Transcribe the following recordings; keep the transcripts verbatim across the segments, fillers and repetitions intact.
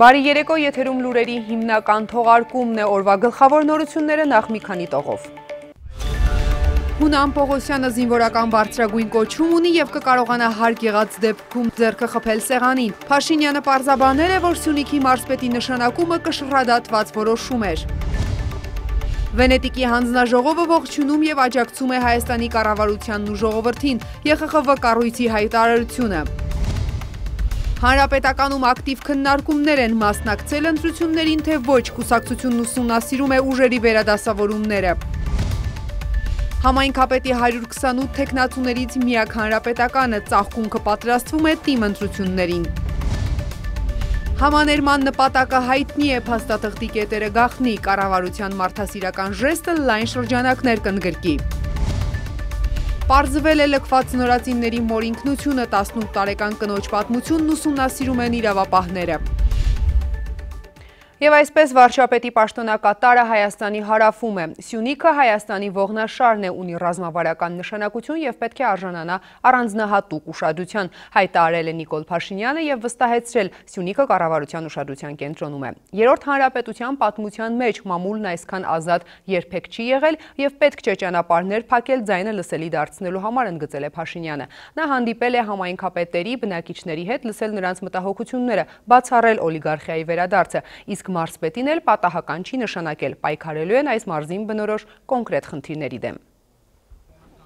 Բարի երեկո, եթերում լուրերի հիմնական թողարկումն է, օրվա գլխավոր նորությունները նախ մի քանի տողով։ Հունան Պողոսյանը զինվորական բարձրագույն կոչում ունի և կկարողանա հարկ եղած դեպքում ձեռքը խփել սեղանին։ Փաշինյանը պարզաբանել է, որ Սյունիքի մարզպետի նշանակումը կշռադատված որոշում էր։ Վենետիկի հանձնաժողովը ողջունում և աջակցում է Հայաստանի կառավարությանն ու ժողովրդին, Ե Խ Խ V կառույցի հայտարարությունը։ Հանրապետականում ակտիվ քննարկումներ են, մասնակցել ընտրություններին, թե ոչ, կուսակցությունն ուսումնասիրում է ուժերի վերադասավորումները։ Համայնքապետի հարյուր քսանութ թեկնածուներից միակ հանրապետականը, ծաղկունքը պատրաստվում է թիմ ընտրություններին։ Համաներման նպատակը հայտնի է, փաստաթղթի կետերը գաղտնի, կառավարության մարդասիրական ժեստը լայն շրջանակներ կընդգրկի։ Պարզվել է լքված նորածինների մոր ինքնությունը, տասնութ տարեկան կնոջ պատմությունն ուսումնասիրում են իրավապահները։ Եվ այսպես վարչապետի պաշտոնակատարը Հայաստանի հարավում է։ Սյունիքը Հայաստանի ողնաշարն է, ունի ռազմավարական նշանակություն և պետք է արժանանա առանձնահատուկ ուշադրության, հայտարարել է Նիկոլ Փաշինյանը և վստահեցրել, Սյունիքը կառավարության ուշադրության կենտրոնում է։ Երրորդ հանրապետության պատմության մեջ մամուլն այսքան ազատ երբեք չի եղել և պետք չէ ճանապարհներ փակել ձայնը լսելի դարձնելու համար, ընդգծել է Փաշինյանը։ Նա հանդիպել է համայնքապետերի, բնակիչների հետ, լսել նրանց մտահոգությունները, բացառել օլիգարխիայի վերադարձը, իսկ մարզպետին էլ պատահական չի նշանակել, պայքարելու են այս մարզին բնորոշ կոնկրետ խնդիրների դեմ։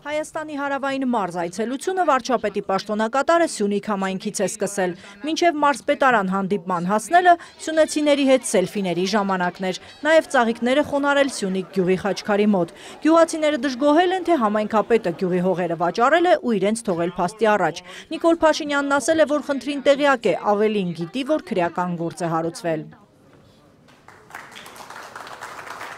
Հայաստանի հարավային մարզ այցելությունը վարչապետի պաշտոնակատարը Սյունիք համայնքից է սկսել։ Մինչև մարզպետարան հանդիպման հասնելը սյունեցիների հետ սելֆիների ժամանակն էր, նաև ծաղիկները խոնարել Սյունիք գյուղի խաչքարի մոտ։ Գյուղացիները դժգոհել են, թե համայնքապետը գյուղի հողերը վաճառել է ու իրենց թողել փաստի առաջ։ Նիկոլ Փաշինյանն ասել է, որ խնդրին տեղյակ է, ավելին գիտի, որ քրեական գործ է հարուցվել։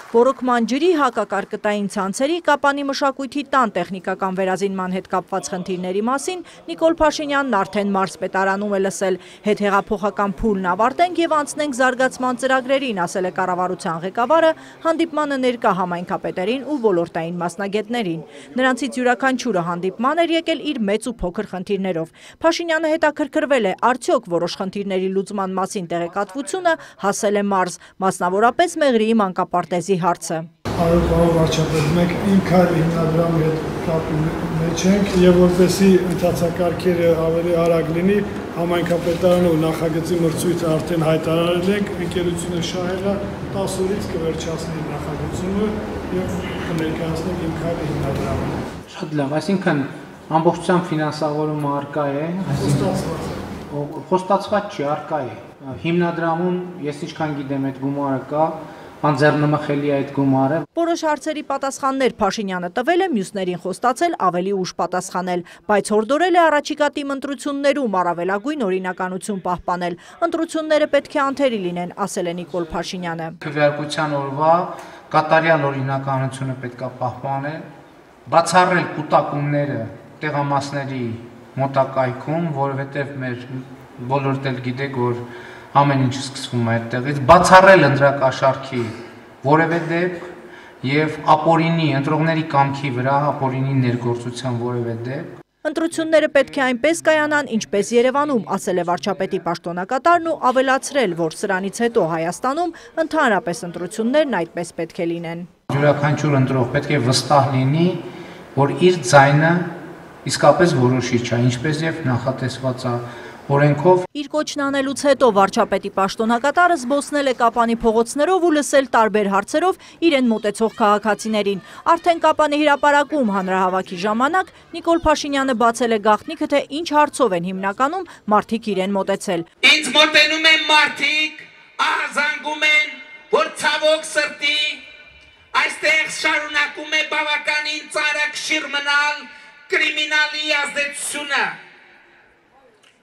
Բորոքման ջրի, հակակարկտային ցանցերի, Կապանի մշակույթի տան տեխնիկական վերազինման հետ կապված խնդիրների մասին Նիկոլ Փաշինյանն արդեն մարզպետարանում է լսել։ Հետհեղափոխական փուլն ավարտենք և անցնենք զարգացման ծրագրերին, ասել է կառավարության ղեկավարը հանդիպմանը ներկա համայնքապետերին ու ոլորտային մասնագետներին։ Նրանցից յուրաքանչյուրը հանդիպման էր եկել իր մեծ ու փոքր խնդիրներով։ Փաշինյանը հետաքրքրվել է, արդյոք որոշ խնդիրների լուծման մասին տեղեկատվությունը հասել է մարզ, մասնավորապես Մեղրիի մանկապարտեզի հարցը։ Արո պարոն վարչապետ, մենք ինքար հիմնադրամի հետ կապի մեջ ենք և որպեսզի ընթացակարգերը ավելի արագ լինի, համայնքապետարանը ու նախագծի մրցույթը արդեն հայտարարել ենք, ընկերությունը շահելա տասը օրից կվերջացնի նախագծումը և կներկայացնենք ինքար հիմնադրամը։ Շատ լավ, այսինքն ամբողջությամբ ֆինանսավորումը առկա է, խոստացված չի, առկա է։ Հիմնադրամում ես ինչքան գիտեմ այդ գումարը կա, անձեռնմխելի այդ գումարը։ Որոշ հարցերի պատասխաններ Փաշինյանը տվել է, մյուսներին խոստացել ավելի ուշ պատասխանել, բայց հորդորել է առաջիկա թիմ ընտրություններում առավելագույն օրինականություն պահպանել։ Ընտրությունները պետք է անթերի լինեն, ասել է Նիկոլ Փաշինյանը։ Քվեարկության օրվա կատարյալ օրինականությունը պետք է պահպանել, բացառել կուտակումները տեղամասների մոտակայքում, որովհետև մեր բոլորդ էլ գիտեք, որ ամեն ինչ սկսվում է այդտեղից, բացառել ընտրակաշառքի որևէ դեպք և ապօրինի, ընտրողների կամքի վրա ապօրինի ներգործության որևէ դեպք։ Ընտրությունները պետք է այնպես կայանան, ինչպես Երևանում, ասել է վարչապետի պաշտոնակատարն ու ավելացրել, որ սրանից հետո Հայաստանում ընդհանրապես ընտրություններն այդպես պետք է լինեն։ Յուրաքանչյուր ընտրող պետք է վստահ լինի, որ իր ձայնը իսկապես որոշիչ է, ինչպես և նախատեսված է օրենքով։ Իր կոչն անելուց հետո վարչապետի պաշտոնակատարը զբոսնել է Կապանի փողոցներով ու լսել տարբեր հարցերով իրեն մոտեցող քաղաքացիներին։ Արդեն Կապանի հրապարակում հանրահավաքի ժամանակ Նիկոլ Փաշինյանը բացել է գաղտնիքը, թե ինչ հարցով են հիմնականում մարդիկ իրեն մոտեցել։ Ինձ մոտենում են մարդիկ, ահազանգում են, որ ցավոք սրտի այստեղ շարունակում է բավականին ծանրակշիռ մնալ կրիմինալի ազդեցությունը։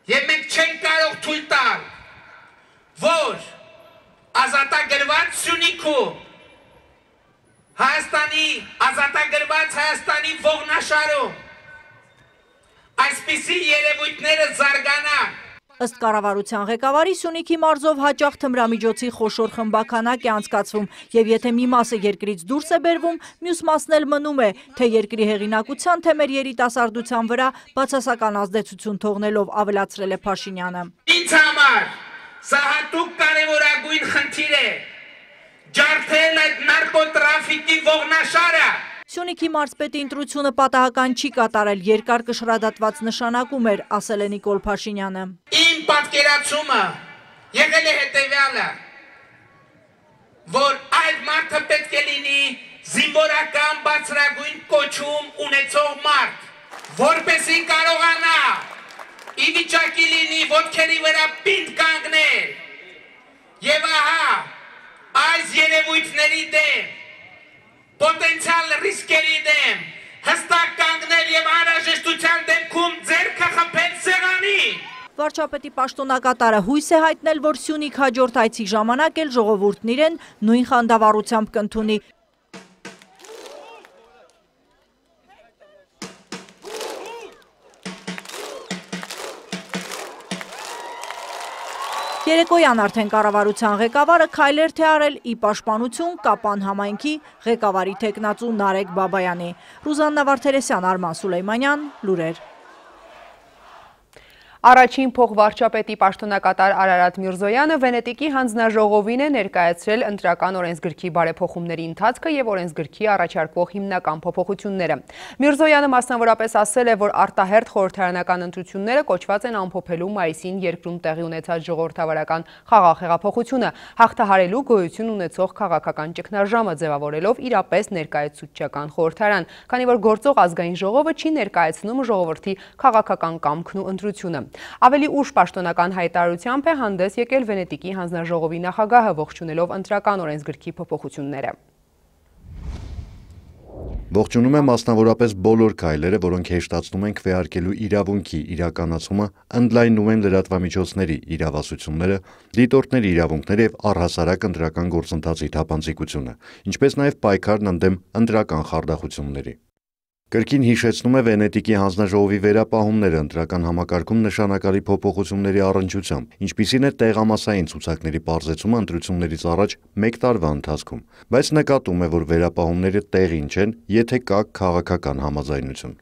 Եվ մենք չենք կարող թույլ տալ, որ ազատագրված Սյունիքում, Հայաստանի, ազատագրված Հայաստանի ողնաշարում այսպիսի երևույթները զարգանան։ Ըստ կառավարության ղեկավարի Սյունիքի մարզով հաճախ թմրամիջոցի խոշոր խմբականակ է անցկացվում և եթե մի մասը երկրից դուրս է բերվում, մյուս մասն էլ մնում է, թե երկրի հեղինակության, թե մեր երիտասարդության վրա բացասական ազդեցություն թողնելով, ավելացրել է Փաշինյանը։ Ինձ համար սա հատուկ կարևորագույն խնդիր է, ջարդել այդ նարկոտրաֆիկի ողնաշարը։ Սյունիքի մարզպետի ընտրությունը պատահական չի կատարել, երկար կշռադատված նշանակում էր, ասել է Նիկոլ Փաշինյանը։ Իմ պատկերացումը եղել է հետևյալը, որ այդ մարդը պետք է լինի զինվորական բարձրագույն կոչում ունեցող մարդ, որպեսզի կարողանա ի վիճակի լինի ոտքերի վրա պինդ կանգնել, եւ ահա այս երևույթների դեմ, պոտենցիալ ռիսկերի դեմ հստակ կանգնել եւ անհրաժեշտության դեպքում ձեռքը խփել սեղանի։ Վարչապետի պաշտոնակատարը հույս է հայտնել, որ Սյունիք հաջորդ այցի ժամանակ էլ ժողովուրդն իրեն նույն խանդավառությամբ կընդունի։ Երեկոյան արդեն կառավարության ղեկավարը քայլեր թե արել ի պաշտպանություն Կապան համայնքի ղեկավարի թեկնածու Նարեկ Բաբայանի։ Ռուզաննա Վարդերեսյան, Արման Սուլեյմանյան, լուրեր։ Առաջին փոխվարչապետի պաշտոնակատար Արարատ Միրզոյանը Վենետիկի հանձնաժողովին է ներկայացրել ընտրական օրենսգրքի բարեփոխումների ընթացքը եւ օրենսգրքի առաջարկվող հիմնական փոփոխությունները։ Միրզոյանը մասնավորապես ասել է, որ արտահերթ խորհրդարանական ընտրությունները կոչված են ամփոփելու մայիսին երկրում տեղի ունեցած ժողովրդավարական խաղաղ հեղափոխությունը, հաղթահարելու գոյություն ունեցող քաղաքական ճգնաժամը ձևավորելով իրապես ներկայացուցչական խորհրդարան, քանի որ գործող ազգային ժողովը չի ներկայացնում ժողովրդի քաղաքական կամքն ու ընտրությունը։ Ավելի ուշ պաշտոնական հայտարարությամբ է հանդես եկել Վենետիկի հանձնաժողովի նախագահը, ողջունելով ընտրական օրենսգրքի փոփոխությունները։ Ողջունում եմ մասնավորապես բոլոր քայլերը, որոնք հեշտացնում են քվեարկելու իրավունքի իրականացումը, ընդլայնում են լրատվամիջոցների իրավասությունները, դիտորդների իրավունքները եւ առհասարակ ընտրական գործընթացի թափանցիկությունը, ինչպես նաեւ պայքարն ընդդեմ ընտրական խարդախությունների։ Կրկին հիշեցնում է Վենետիկի հանձնաժողովի վերապահումները ընտրական համակարգում նշանակալի փոփոխությունների առնչությամբ, ինչպիսին է տեղամասային ցուցակների պարզեցումը ընտրություններից առաջ մեկ տարվա ընթացքում, բայց նկատում է, որ վերապահումները տեղին չեն, եթե կա քաղաքական համաձայնություն։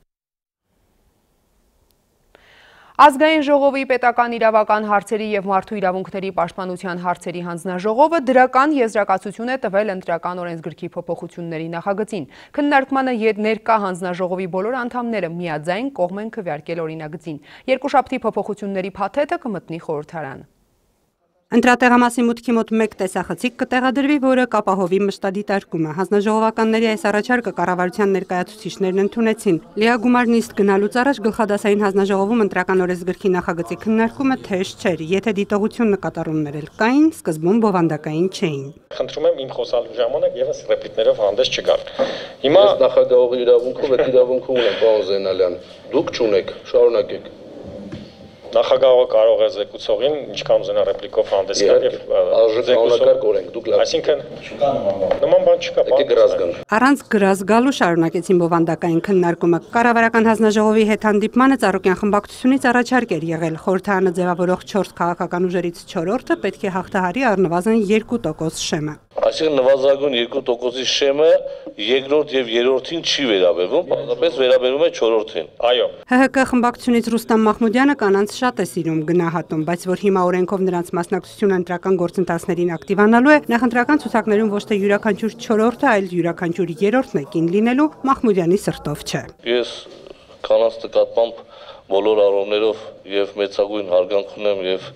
Ազգային ժողովի պետական իրավական հարցերի եւ մարդու իրավունքների պաշտպանության հարցերի հանձնաժողովը դրական եզրակացություն է տվել ընտրական օրենսգրքի փոփոխությունների նախագծին։ Քննարկմանը ներկա հանձնաժողովի բոլոր անդամները միաձայն կողմ են քվեարկել օրինագծին։ Երկուշաբթի փոփոխությունների փաթեթը կմտնի խորհրդարան։ Ընտրատեղամասի մուտքի մոտ մեկ տեսախցիկ կտեղադրվի, որը կապահովի մշտադիտարկումը։ Հանձնաժողովականների այս առաջարկը կառավարության ներկայացուցիչներն ընդունեցին։ Լիագումար նիստ գնալուց առաջ գլխադասային հանձնաժողովում ընտրական օրենսգրքի նախագծի քննարկումը թեժ չէր, եթե դիտողություն նկատառումներ էլ կային, սկզբում բովանդակային չէին։ Խնդրում եմ իմ խոսալու ժամանակ եւս ռեպլիկներով հանդես չգալ։ Հիմա նախագահողի իրավունքով այդ իրավունքը ունեն, պարոն Զենալյան։ Դուք չունեք, շարունակեք։ Նախագահողը կարող է զեկուցողին ինչքան ուզենա ռեպլիկով հանդես գալ եւ զեկուցող օրենք դուք լավ։ Այսինքն նման բան չկա, պարոն Գրազգան։ Առանց գրազգալու շարունակեցին բովանդակային քննարկումը։ Կառավարական հանձնաժողովի հետ հանդիպմանը Ծառուկյան խմբակցությունից առաջարկ էր եղել խորհրդարանը ձևավորող չորս քաղաքական ուժերից չորրորդը պետք է հաղթահարի առնվազն երկու տոկոս շեմը։ Այսինքն նվազագույն երկու տոկոսի շեմը երկրորդ եւ երրորդին չի վերաբերվում, պարզապես վերաբերվում է չորրորդին։ Այո։ ՀՀԿ խմբակցությունից Ռուստամ Մահմուդյանը կանանց շատ է սիրում գնահատում, բայց որ հիմա օրենքով նրանց մասնակցությունը ընտրական գործընթացներին ակտիվանալու է, նախընտրական ցուցակներում ոչ թե յուրաքանչյուր չորրորդը, այլ յուրաքանչյուր երրորդն է կին լինելու Մահմուդյանի սրտով չէ։ Ես կանանց նկատմամբ բոլոր առումներով եւ մեծագույն հարգանք ունեմ եւ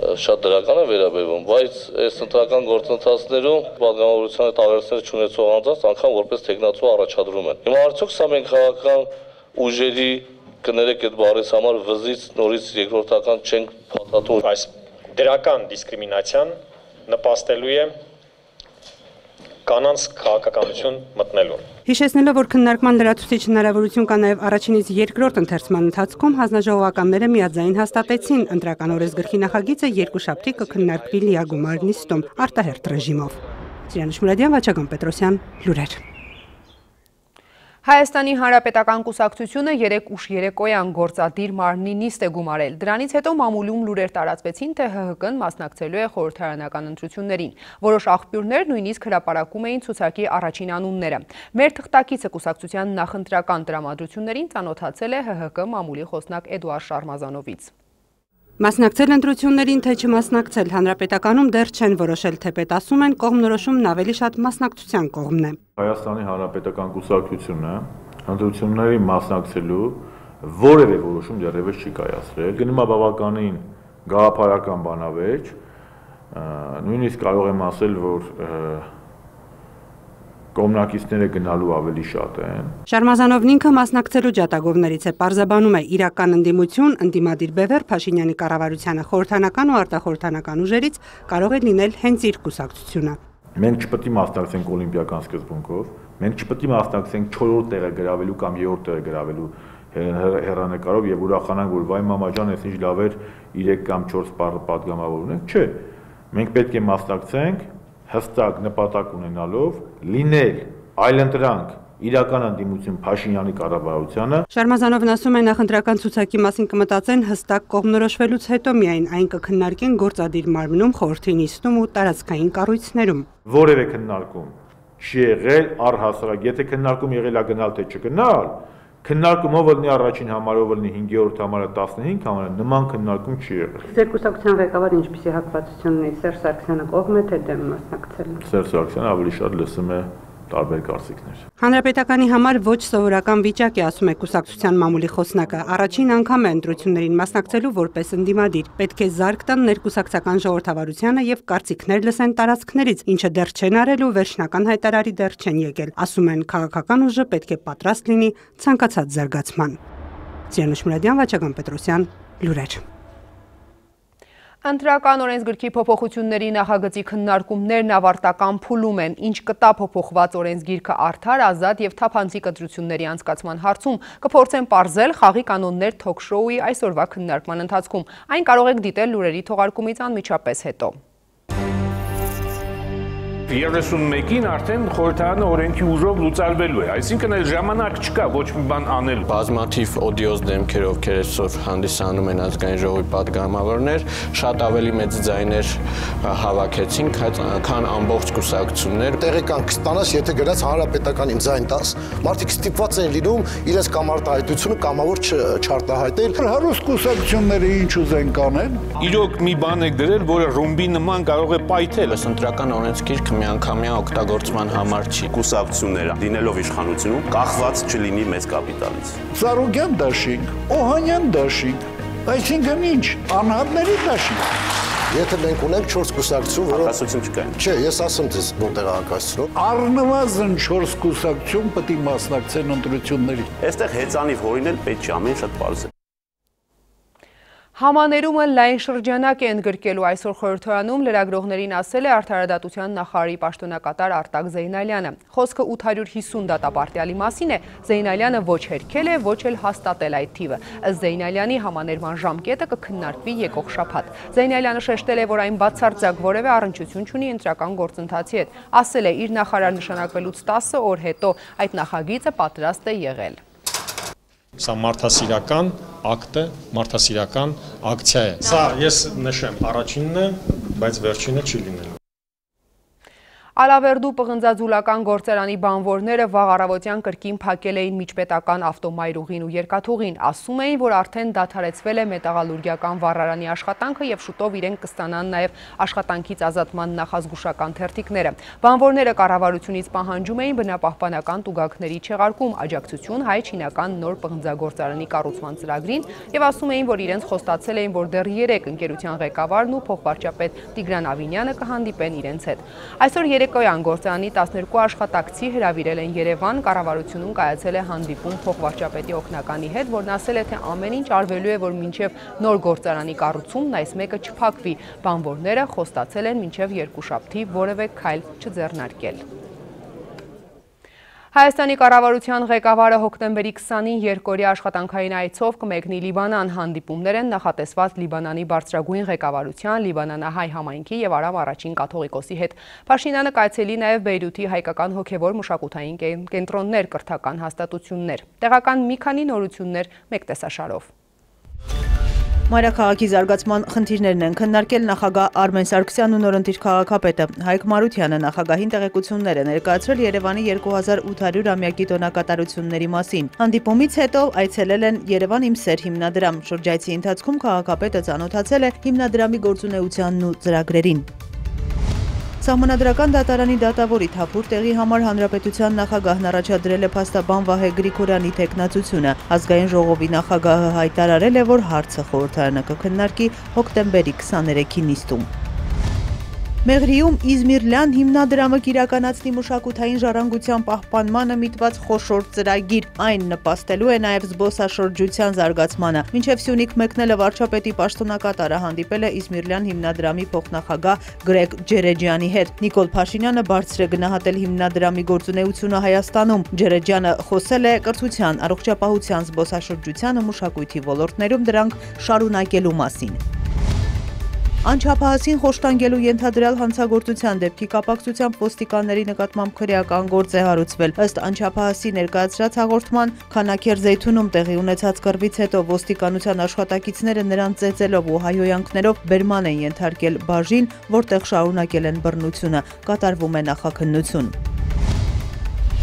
շատ դրական է վերաբերվում, բայց այս ընտրական գործընթացներում պատգամավորության հետ աղերսներ չունեցող անձանց անգամ որպես տեխնացու առաջադրում են։ Հիմա արդյոք սա մենք քաղաքական ուժերի կներեք այդ բառից համար վզից նորից երկրորդական չենք փաթաթում։ Այս դրական դիսկրիմինացիան նպաստելու է կանանց քաղաքականություն մտնելուն։ Հիշեցնելով, որ քննարկման լրացուցիչ հնարավորություն կա նաև առաջինից երկրորդ ընթերցման ընթացքում, հանձնաժողովականները միաձայն հաստատեցին ընտրական օրենսգրքի նախագիծը երկուշաբթի կքննարկվի լիագումար նիստում արտահերթ ռեժիմով։ Սիրանուշ Մուրադյան, Վաչագն Պետրոսյան, լուրեր։ Հայաստանի Հանրապետական կուսակցությունը երեկ ուշ երեկոյան գործադիր մարմնի նիստ է գումարել։ Դրանից հետո մամուլում լուրեր տարածվեցին, թե ՀՀԿ-ն մասնակցելու է խորհրդարանական ընտրություններին։ Որոշ աղբյուրներ նույնիսկ հրապարակում էին ցուցակի առաջին անունները։ Մեր թղթակիցը կուսակցության նախընտրական տրամադրություններին ծանոթացել է ՀՀԿ մամուլի խոսնակ Էդուարդ Շարմազանովից։ Մասնակցել ընտրություններին, թե չմասնակցել, հանրապետականում դեռ չեն որոշել, թեպետ ասում են, կողմնորոշումն ավելի շատ մասնակցության կողմն է։ Հայաստանի Հանրապետական կուսակցությունը ընտրությունների մասնակցելու որևէ որոշում դեռևս չի կայացրել։ Գնում է բավականին գաղափարական բանավեճ, նույնիսկ կարող եմ ասել, որ կողմնակիցները գնալու ավելի շատ են։ Շարմազանովն ինքը մասնակցելու ջատագովներից է, պարզաբանում է իրական ընդդիմություն, ընդդիմադիր բևեռ Փաշինյանի կառավարությանը խորհրդանական ու արտախորհրդանական ուժերից կարող է լինել հենց իր կուսակցությունը։ Մենք չպետք է մասնակցենք օլիմպիական սկզբունքով, մենք չպետք է մասնակցենք չորրորդ տեղը գրավելու կամ երրորդ տեղը գրավելու հեռանկարով եւ ուրախանանք, որ վայ մամա ջան, այս ինչ լավ էր երեք կամ չորս պատգամավոր ունենք, չէ։ Մենք պետք է մասնակցենք հստակ նպատակ ունենալով լինել այլընտրանք իրական ընդդիմություն Փաշինյանի կառավարությանը։ Շարմազանովն ասում է, նախընտրական ցուցակի մասին կմտածեն հստակ կողմնորոշվելուց հետո միայն այն կքննարկեն գործադիր մարմնում, խորհրդի նիստում ու տարածքային կառույցներում։ Որևէ քննարկում չի եղել առհասարակ, եթե քննարկում եղել է գնալ թե չգնալ, քննարկումը ով լինի առաջին համարը, ով լինի հինգերորդ համարը, տասնհինգ համարը, նման քննարկում չի եղել։ Ձեր կուսակցության ղեկավարը ինչպիսի հակվածություն ունի, Սերժ Սարգսյանը կողմ է թե դեմ մասնակցել։ Սերժ Սարգսյանը ավելի շատ լսում է տարբեր կարծիքներ։ Հանրապետականի համար ոչ սովորական վիճակ է, ասում է կուսակցության մամուլի խոսնակը։ Առաջին անգամ է ընտրություններին մասնակցելու որպես ընդդիմադիր։ Պետք է զարկ տան ներկուսակցական ժողովրդավարությանը եւ կարծիքներ լսեն տարածքներից, ինչը դեռ չեն արել ու վերջնական հայտարարի դեռ չեն եկել։ Ասում են, քաղաքական ուժը պետք է պատրաստ լինի ցանկացած զարգացման։ Ծիանուշ Մուրադյան, Վաչագան Պետրոսյան, լուրեր։ Ընտրական օրենսգրքի փոփոխությունների նախագծի քննարկումներն ավարտական փուլում են, ինչ կտա փոփոխված օրենսգիրքը արդար, ազատ եւ թափանցիկ ընտրությունների անցկացման հարցում, կփորձեն պարզել խաղի կանոններ թոք-շոուի այսօրվա քննարկման ընթացքում։ Այն կարող եք դիտել լուրերի թողարկումից անմիջապես հետո։ երեսունմեկին արդեն խորհրդարանը օրենքի ուժով լուծարվելու է, այսինքն այլ ժամանակ չկա ոչ մի բան անելու։ Բազմաթիվ օդիոզ դեմքեր, ովքեր այսօր հանդիսանում են ազգային ժողովի պատգամավորներ, շատ ավելի մեծ ձայներ հավաքեցին, քան ամբողջ կուսակցություններ։ Տեղեկանք ստանաս, եթե գնաց հանրապետականին ձայն տաս, մարդիկ ստիպված են լինում իրենց կամ արտահայտությունը կամավոր չարտահայտել։ Հարուստ կուսակցությունները ինչ ուզեն կանեն։ Իրոք մի բան եք դրել, որը ռումբի նման կարող է պայթել։ Ընտրական օրենսգիրքը միանգամյա օգտագործման համար չի։ Կուսակցությունները լինելով իշխանությունում կախված չլինի մեծ կապիտալից։ Ծառուկյան դաշինք, Օհանյան դաշինք, այսինքն ինչ, անհատների դաշինք։ Եթե մենք ունենք չորս կուսակցություն, որոնք հակասություն չկա։ Չէ, ես ասում ձեզ որտեղ հակասություն։ Առնվազն չորս կուսակցություն պետք է մասնակցեն ընտրություններին։ Այստեղ հեծանիվ հորինել պետք չի, ամեն շատ պարզ է։ Համաներումը լայն շրջանակ է ընդգրկելու այսօր խորհրդարանում լրագրողներին ասել է Արդարադատության նախարարի պաշտոնակատար Արտակ Զեյնալյանը։ Խոսքը ութ հարյուր հիսուն դատապարտյալի մասին է, Զեյնալյանը ոչ հերքել է, ոչ էլ հաստատել այդ թիվը։ Ըստ Զեյնալյանի համաներման ժամկետը կքննարկվի եկող շաբաթ։ Զեյնալյանը շեշտել է, որ այն բացարձակ որևէ առնչություն չունի ընտրական գործընթացի հետ։ Ասել է, իր նախարար նշանակվելուց տասը օր հետո այդ նախագիծը պատրաստ է եղել։ Սա մարդասիրական ակտ է, մարդասիրական ակցիա է։ Սա ես նշեմ, առաջինն է, բայց վերջինը չի լինելու։ Ալավերդու պղնձաձուլական գործարանի բանվորները վաղ առավոտյան կրկին փակել էին միջպետական ավտոմայրուղին ու երկաթուղին, ասում էին, որ արդեն դադարեցվել է մետաղալուրգիական վառարանի աշխատանքը եւ շուտով իրենք կստանան նաեւ աշխատանքից ազատման նախազգուշական թերթիկները։ Բանվորները կառավարությունից պահանջում էին բնապահպանական տուգանքների չեղարկում, աջակցություն հայ-չինական նոր պղնձագործարանի կառուցման ծրագրին եւ ասում էին, որ իրենց խոստացել էին, որ դեռ երեք ընկերության ղեկավարն ու փոխվարչապետ Տիգրան Ավինյանը կհանդիպեն իրենց հետ։ Այսօր երեկոյան գործարանի տասներկու աշխատակցի հրավիրել են Երևան, կառավարությունում կայացել է հանդիպում փոխվարչապետի օգնականի հետ, որն ասել է, թե ամեն ինչ արվելու է, որ մինչև նոր գործարանի կառուցումն այս մեկը չփակվի։ Բանվորները խոստացել են մինչև երկուշաբթի որևէ քայլ չձեռնարկել։ Հայաստանի կառավարության ղեկավարը հոկտեմբերի քսանին երկօրյա աշխատանքային այցով կմեկնի Լիբանան, հանդիպումներ են նախատեսված Լիբանանի բարձրագույն ղեկավարության, Լիբանանահայ համայնքի եւ Արաբ առաջին կաթողիկոսի հետ։ Փաշինյանը կայցելի նաեւ Բեյրութի հայկական հոգեվոր մշակութային կենտրոններ, կրթական հաստատություններ։ Տեղական մի քանի նորություններ մեկ տեսաշարով։ Մայրաքաղաքի զարգացման խնդիրներն են քննարկել նախագահ Արմեն Սարգսյանն ու նորընտիր քաղաքապետը Հայկ Մարությանը նախագահին տեղեկություններ է ներկայացրել Երևանի երկու հազար ութ հարյուր ամյակի տոնակատարությունների մասին։ Հանդիպումից հետո այցելել են Երևան իմ սեր հիմնադրամ։ Շրջայցի ընթացքում քաղաքապետը ծանոթացել է հիմնադրամի գործունեությանն ու ծրագրերին։ Սահմանադրական դատարանի դատավորի թափուր տեղի համար հանրապետության նախագահն առաջադրել է փաստաբան Վահե Գրիգորյանի թեկնածությունը։ Ազգային ժողովի նախագահը հայտարարել է, որ հարցը խորհրդարանը կքննարկի հոկտեմբերի քսաներեքի նիստում։ Մեղրիում Իզմիրլյան հիմնադրամը կիրականացնի մշակութային ժառանգության պահպանմանը միտված խոշոր ծրագիր, այն նպաստելու է նաև զբոսաշրջության զարգացմանը։ Մինչև Սյունիք մեկնելը վարչապետի պաշտոնակատարը հանդիպել է Իզմիրլյան հիմնադրամի փոխնախագահ Գրեգ Ջերեջյանի հետ։ Նիկոլ Փաշինյանը բարձր է գնահատել հիմնադրամի գործունեությունը Հայաստանում։ Ջերեջյանը խոսել է կրթության, առողջապահության, զբոսաշրջության ու մշակույթի ոլորտներում դրանք շարունակելու մասին։ Անչափահասին խոշտանգելու ենթադրյալ հանցագործության դեպքի կապակցությամբ ոստիկանների նկատմամբ քրեական գործ է հարուցվել։ Ըստ անչափահասի ներկայացրած հաղորդման, Քանաքեր Զեյթունում տեղի ունեցած կռվից հետո ոստիկանության աշխատակիցները նրան ծեծելով ու հայհոյանքներով բերման են ենթարկել բաժին, որտեղ շարունակել են բռնությունը, կատարվում է նախաքննություն։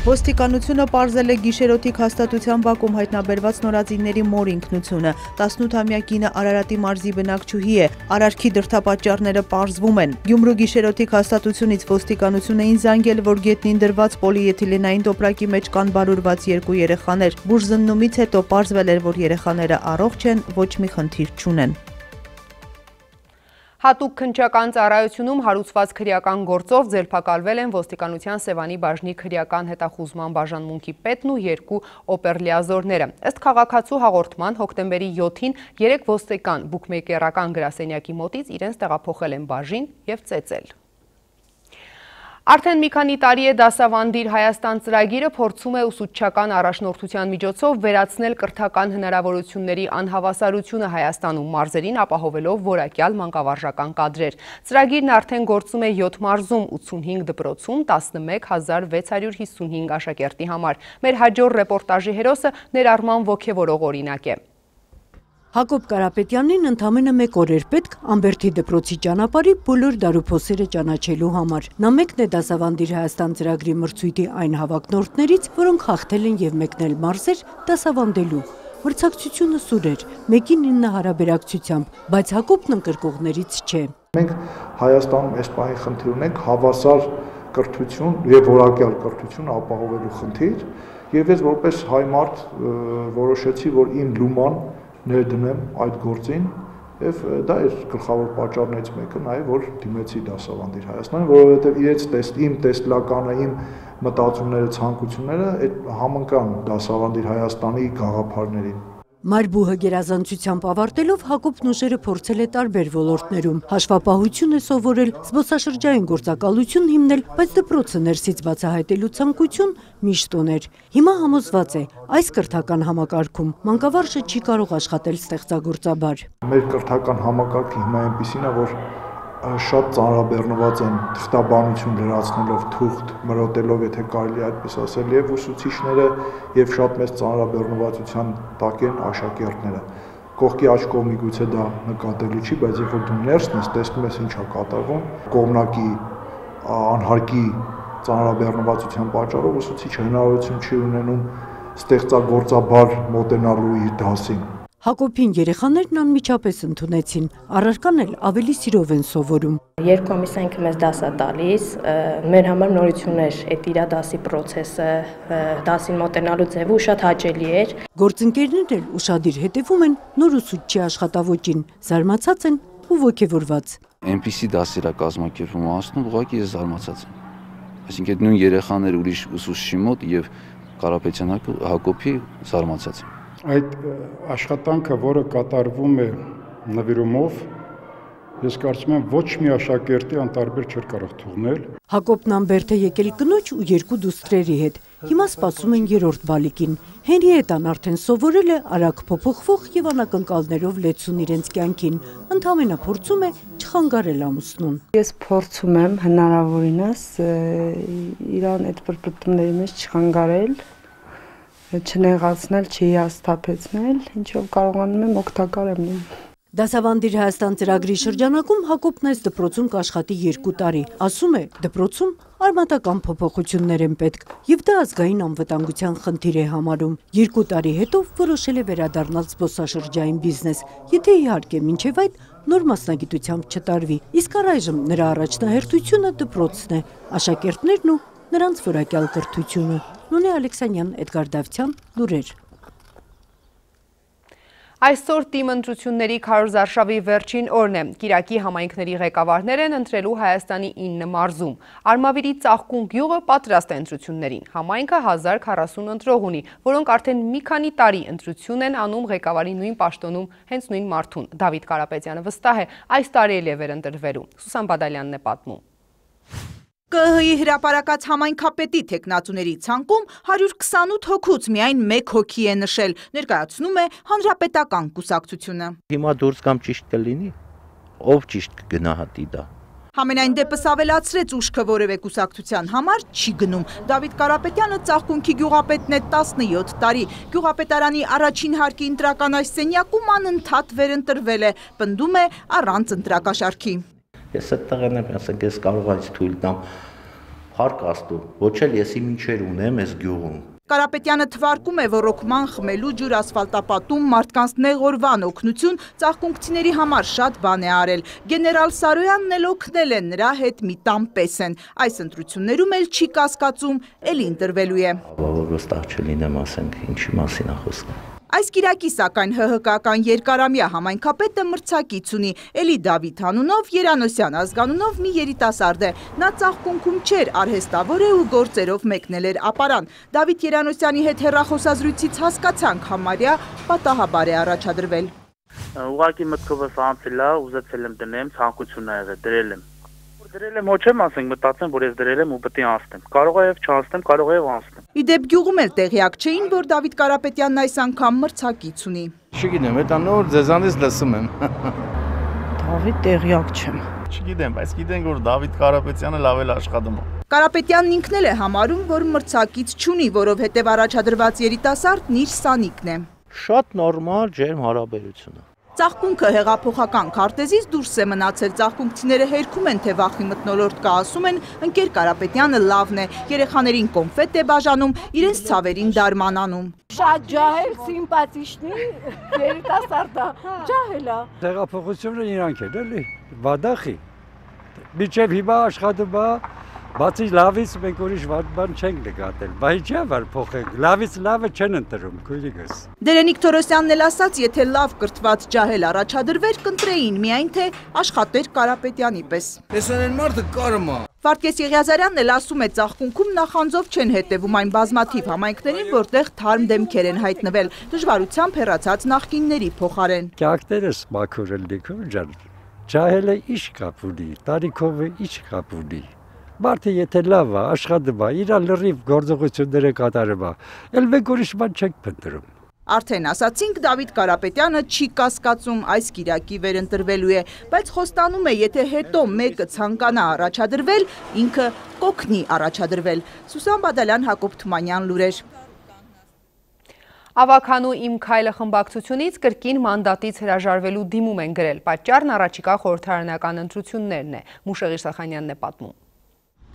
Ոստիկանությունը պարզել է գիշերօթիկ հաստատության բակում հայտնաբերված նորածինների մոր ինքնությունը։ տասնութամյա կինը Արարատի մարզի բնակչուհի է։ Արարքի դրդապատճառները պարզվում են։ Գյումրու գիշերօթիկ հաստատությունից ոստիկանություն էին զանգել, որ գետնին դրված պոլիէթիլենային տոպրակի մեջ կան բարուրված երկու երեխաներ։ Բուժզննումից հետո պարզվել էր, որ երեխաները առողջ են, ոչ մի խնդիր չունեն։ Հատուկ քննչական ծառայությունում հարուցված քրեական գործով ձերբակալվել են ոստիկանության Սևանի բաժնի քրեական հետախուզման բաժանմունքի պետն ու երկու օպերլիազորները։ Ըստ քաղաքացու հաղորդման հոկտեմբերի յոթին երեք ոստիկան բուկմեյքերական գրասենյակի մոտից իրենց տեղափոխել են բաժին և ծեծել։ Արդեն մի քանի տարի է դասավանդիր Հայաստան ծրագիրը փորձում է ուսուցչական առաջնորդության միջոցով վերացնել կրթական հնարավորությունների անհավասարությունը Հայաստանում մարզերին ապահովելով որակյալ մանկավարժական կադրեր։ Ծրագիրն արդեն գործում է յոթ մարզում, ութսունհինգ դպրոցում, տասնմեկ հազար վեց հարյուր հիսունհինգ աշակերտի համար։ Մեր հաջորդ ռեպորտաժի հերոսը ներառման ոգևորող օրինակ է։ Հակոբ Կարապետյանին ընդամենը մեկ օր էր պետք Ամբերդի դպրոցի ճանապարհի բոլոր դարուփոսերը ճանաչելու համար։ Նա մեկն է դասավանդիր Հայաստան ծրագրի մրցույթի այն հավակնորդներից, որոնք հաղթել են եւ մեկնել մարզեր դասավանդելու։ Մրցակցությունը սուր էր, մեկին ինը հարաբերակցությամբ, բայց Հակոբն ընկրկողներից չէ։ Մենք Հայաստանում այս պահի խնդիր ունենք հավասար կրթություն եւ որակյալ կրթություն ապահովելու խնդիր, եւ ես որպես հայ մարդ որոշեցի, որ իմ լուման ներդնեմ այդ գործին եւ դա էր գլխավոր պատճառներից մեկը նաեւ որ դիմեցի դասավանդիր Հայաստանին, որովհետեւ իրենց տեստ իմ տեսլականը, իմ մտածումները, ցանկությունները այդ համընկան դասավանդիր Հայաստանի գաղափարներին։ Մարբուհը գերազանցությամբ ավարտելով Հակոբն ուժերը փորձել է տարբեր ոլորտներում։ Հաշվապահություն է սովորել, զբոսաշրջային գործակալություն հիմնել, բայց դպրոցը ներսից բացահայտելու ցանկություն միշտ ուներ։ Հիմա համոզված է, այս կրթական համակարգում մանկավարժը չի կարող աշխատել ստեղծագործաբար։ Մեր կրթական համակարգը հիմա այնպիսին է, որ շատ ծանրաբեռնված են թղթաբանություն լրացնելով, թուղթ մրոտելով, եթե կարելի այդպես ասել, եւ ուսուցիչները եւ շատ մեծ ծանրաբեռնվածության տակ են աշակերտները։ Կողքի աջ կողմի գուցե դա նկատելի չի, բայց երբ որ դու ներսն ես, տեսնում ես ինչա կատարվում, կողմնակի անհարկի ծանրաբեռնվածության պատճառով ուսուցիչը հնարավորություն չի ունենում ստեղծագործաբար մոտենալու իր դասին։ Հակոբին երեխաներն անմիջապես ընդունեցին, առարկան էլ ավելի սիրով են սովորում։ Երկու ամիս ինքը մեզ դաս է տալիս, մեր համար նորություն էր այդ իր դասի process-ը, դասին մոտենալու ձևը շատ հաճելի էր։ Գործընկերներն էլ ուշադիր հետևում են նոր ուսուցչի աշխատավոճին, զարմացած են ու ոգևորված։ Այնպիսի դասեր է կազմակերպվում անցնում, ուղղակի ես զարմացած եմ։ Այսինքն նույն երեխաներ ուրիշ ուսուցչի մոտ եւ Կարապետյան Հակոբի զարմացած եմ։ Այդ աշխատանքը, որը կատարվում է նվիրումով, ես կարծում եմ ոչ մի աշակերտի անտարբեր չէր կարող թողնել։ Հակոբն Ամբերդ է եկել կնոջ ու երկու դուստրերի հետ։ Հիմա սպասում են երրորդ բալիկին։ Հենրիետան արդեն սովորել է արագ փոփոխվող եւ անակնկալներով լեցուն իրենց կյանքին։ Ընդամենը փորձում է չխանգարել ամուսնուն։ Ես փորձում եմ հնարավորինս իրան այդ պրպտումների մեջ չխանգարել, չնեղացնել, չհիասթափեցնել, ինչով կարողանում եմ օգտակար եմ լինել։ Դասավանդիր Հայաստան ծրագրի շրջանակում Հակոբն այս դպրոցում կաշխատի երկու տարի։ Ասում է, դպրոցում արմատական փոփոխություններ են պետք, եւ դա ազգային անվտանգության խնդիր է համարում։ Երկու տարի հետո որոշել է վերադառնալ զբոսաշրջային բիզնես, եթե իհարկե մինչև այդ նոր մասնագիտությամբ չտարվի։ Իսկ առայժմ նրա առաջնահերթությունը դպրոցն է, աշակերտներն ու նրանց որակյալ կրթությունը։ Նունե Ալեքսանյան, Էդգար Դավթյան, լուրեր։ Այսօր թիմ ընտրությունների քարոզարշավի վերջին օրն է։ Կիրակի համայնքների ղեկավարներ են ընտրելու Հայաստանի ինը մարզում։ Արմավիրի Ծաղկուն գյուղը պատրաստ է ընտրություններին։ Համայնքը հազար քառասուն ընտրող ունի, որոնք արդեն մի քանի տարի ընտրություն են անում ղեկավարի նույն պաշտոնում հենց նույն մարդուն։ Դավիթ Կարապետյանը վստահ է, այս տարի էլ է վերընտրվելու։ Սուսան Բադալյանն է պատմում։ ԿԸՀ-ի հրապարակած համայնքապետի թեկնածուների ցանկում հարյուր քսանութ հոգուց միայն մեկ հոգի է նշել, ներկայացնում է հանրապետական կուսակցությունը։ Հիմա դուրս կամ ճիշտ կլինի, ով ճիշտ կգնահատի դա։ Համենայն դեպս ավելացրեց ուշքը որևէ կուսակցության համար չի գնում։ Դավիթ Կարապետյանը Ծաղկունքի գյուղապետն է տասնյոթ տարի։ Գյուղապետարանի առաջին հարկի ընտրական այս սենյակում անընդհատ վերընտրվել է, պնդում է առանց ընտրակաշարքի։ Ես այդտեղ եմ, ասենք ես կարող եմ թույլ տամ հարկ աստու, ոչ էլ եսի մինչեր ունեմ այս գյուղում։ Կարապետյանը թվարկում է, որ ռոքման խմելու ջուր ասֆալտապատում մարդկանց նեղորվան օգնություն ծաղկունքցիների համար շատ բան է արել։ Գեներալ Սարոյանն էլ օգնել է, նրա հետ մի տան պես են։ Այս ընտրություններում էլ չի կասկածում, էլի ընտրվելու է։ Որ վստահ չլինեմ, ասենք, ինչի մասին է խոսքը։ Այս կիրակի սակայն ՀՀԿ-ական երկարամյա համայնքապետը մրցակից ունի, էլի Դավիթ անունով, Երանոսյան ազգանունով մի երիտասարդ է։ Նա Ծաղկունքում չէր, արհեստավոր է ու գործերով մեկնել էր ապարան։ Դավիթ Երանոսյանի հետ հեռախոսազրույցից հասկացանք, համարյա պատահաբար է առաջադրվել։ Ուղղակի մտքովս անցել է, ուզեցել եմ դնեմ, ցանկություն ա եղել, դրել եմ։ Դրել եմ, ոչ եմ ասենք, մտածեմ, որ ես դրել եմ ու պետք է անցնեմ։ Կարող է եւ չանցնեմ, կարող է եւ անցնեմ։ Իդեպ գյուղում էլ տեղյակ չէին, որ Դավիթ Կարապետյանն այս անգամ մրցակից ունի։ Չգիտեմ, դա նոր ձեզանից լսում եմ։ Դավիթ տեղյակ չեմ։ Չգիտեմ, բայց գիտենք, որ Դավիթ Կարապետյանը լավ էլ աշխատում է։ Կարապետյանն ինքն էլ է համարում, որ մրցակից չունի, որովհետև առաջադրված երիտասարդն իր սանիկն է։ Շատ նորմալ ջերմ հարաբերություն է։ Ծաղկունքը հեղափոխական քարտեզից դուրս է մնացել, ծաղկունքցիները հերքում են, թե վախի մթնոլորտ կա, ասում են, ընկեր Կարապետյանը լավն է, երեխաներին կոնֆետ է բաժանում, իրենց ցավերին դարմանանում։ Շատ ջահել, սիմպաթիչնի, երիտասարդ է, ջահել է։ Հեղափոխությունը իրանք են, էլի, վադախի։ Մինչև հիմա աշխատում է, բացի լավից մենք ուրիշ բան չենք նկատել, բայց չէ՞ որ փոխենք, լավից լավը չեն ընտրում, քույրիկս։ Դերենիկ Թորոսյանն էլ ասաց, եթե լավ կրթված ջահել առաջադրվեր, կընտրեին, միայն թե աշխատեր Կարապետյանի պես։ Էսան են մարդը կարում է։ Վարդգես Եղիազարյանն էլ ասում է, Ծաղկունքում նախանձով չեն հետևում այն բազմաթիվ համայնքներին, որտեղ թարմ դեմքեր են հայտնվել, դժվարությամբ հեռացած նախկինների փոխարեն։ Կյանքներս մաքուր են դիքում ջան։ Ջահելը ինչ կապ ունի, տարիքով ինչ կապ ունի։ Մարդը եթե լավ է, աշխատում է, իր լրիվ գործողությունները կատարում է, էլ մենք ուրիշ բան չենք փնտրում։ Արդեն ասացինք, Դավիթ Կարապետյանը չի կասկածում այս կիրակի վերընտրվելու է, բայց խոստանում է, եթե հետո մեկը ցանկանա առաջադրվել, ինքը կօգնի առաջադրվել։ Սուսան Բադալյան, Հակոբ Թումանյան, լուրեր։ Ավականու իմ քայլը խմբակցությունից կրկին մանդատից հրաժարվելու դիմում են գրել։ Պատճառն առաջիկա խորհրդարանական ընտրություններն է։ Մուշեղի Սախանյանն է պատմում։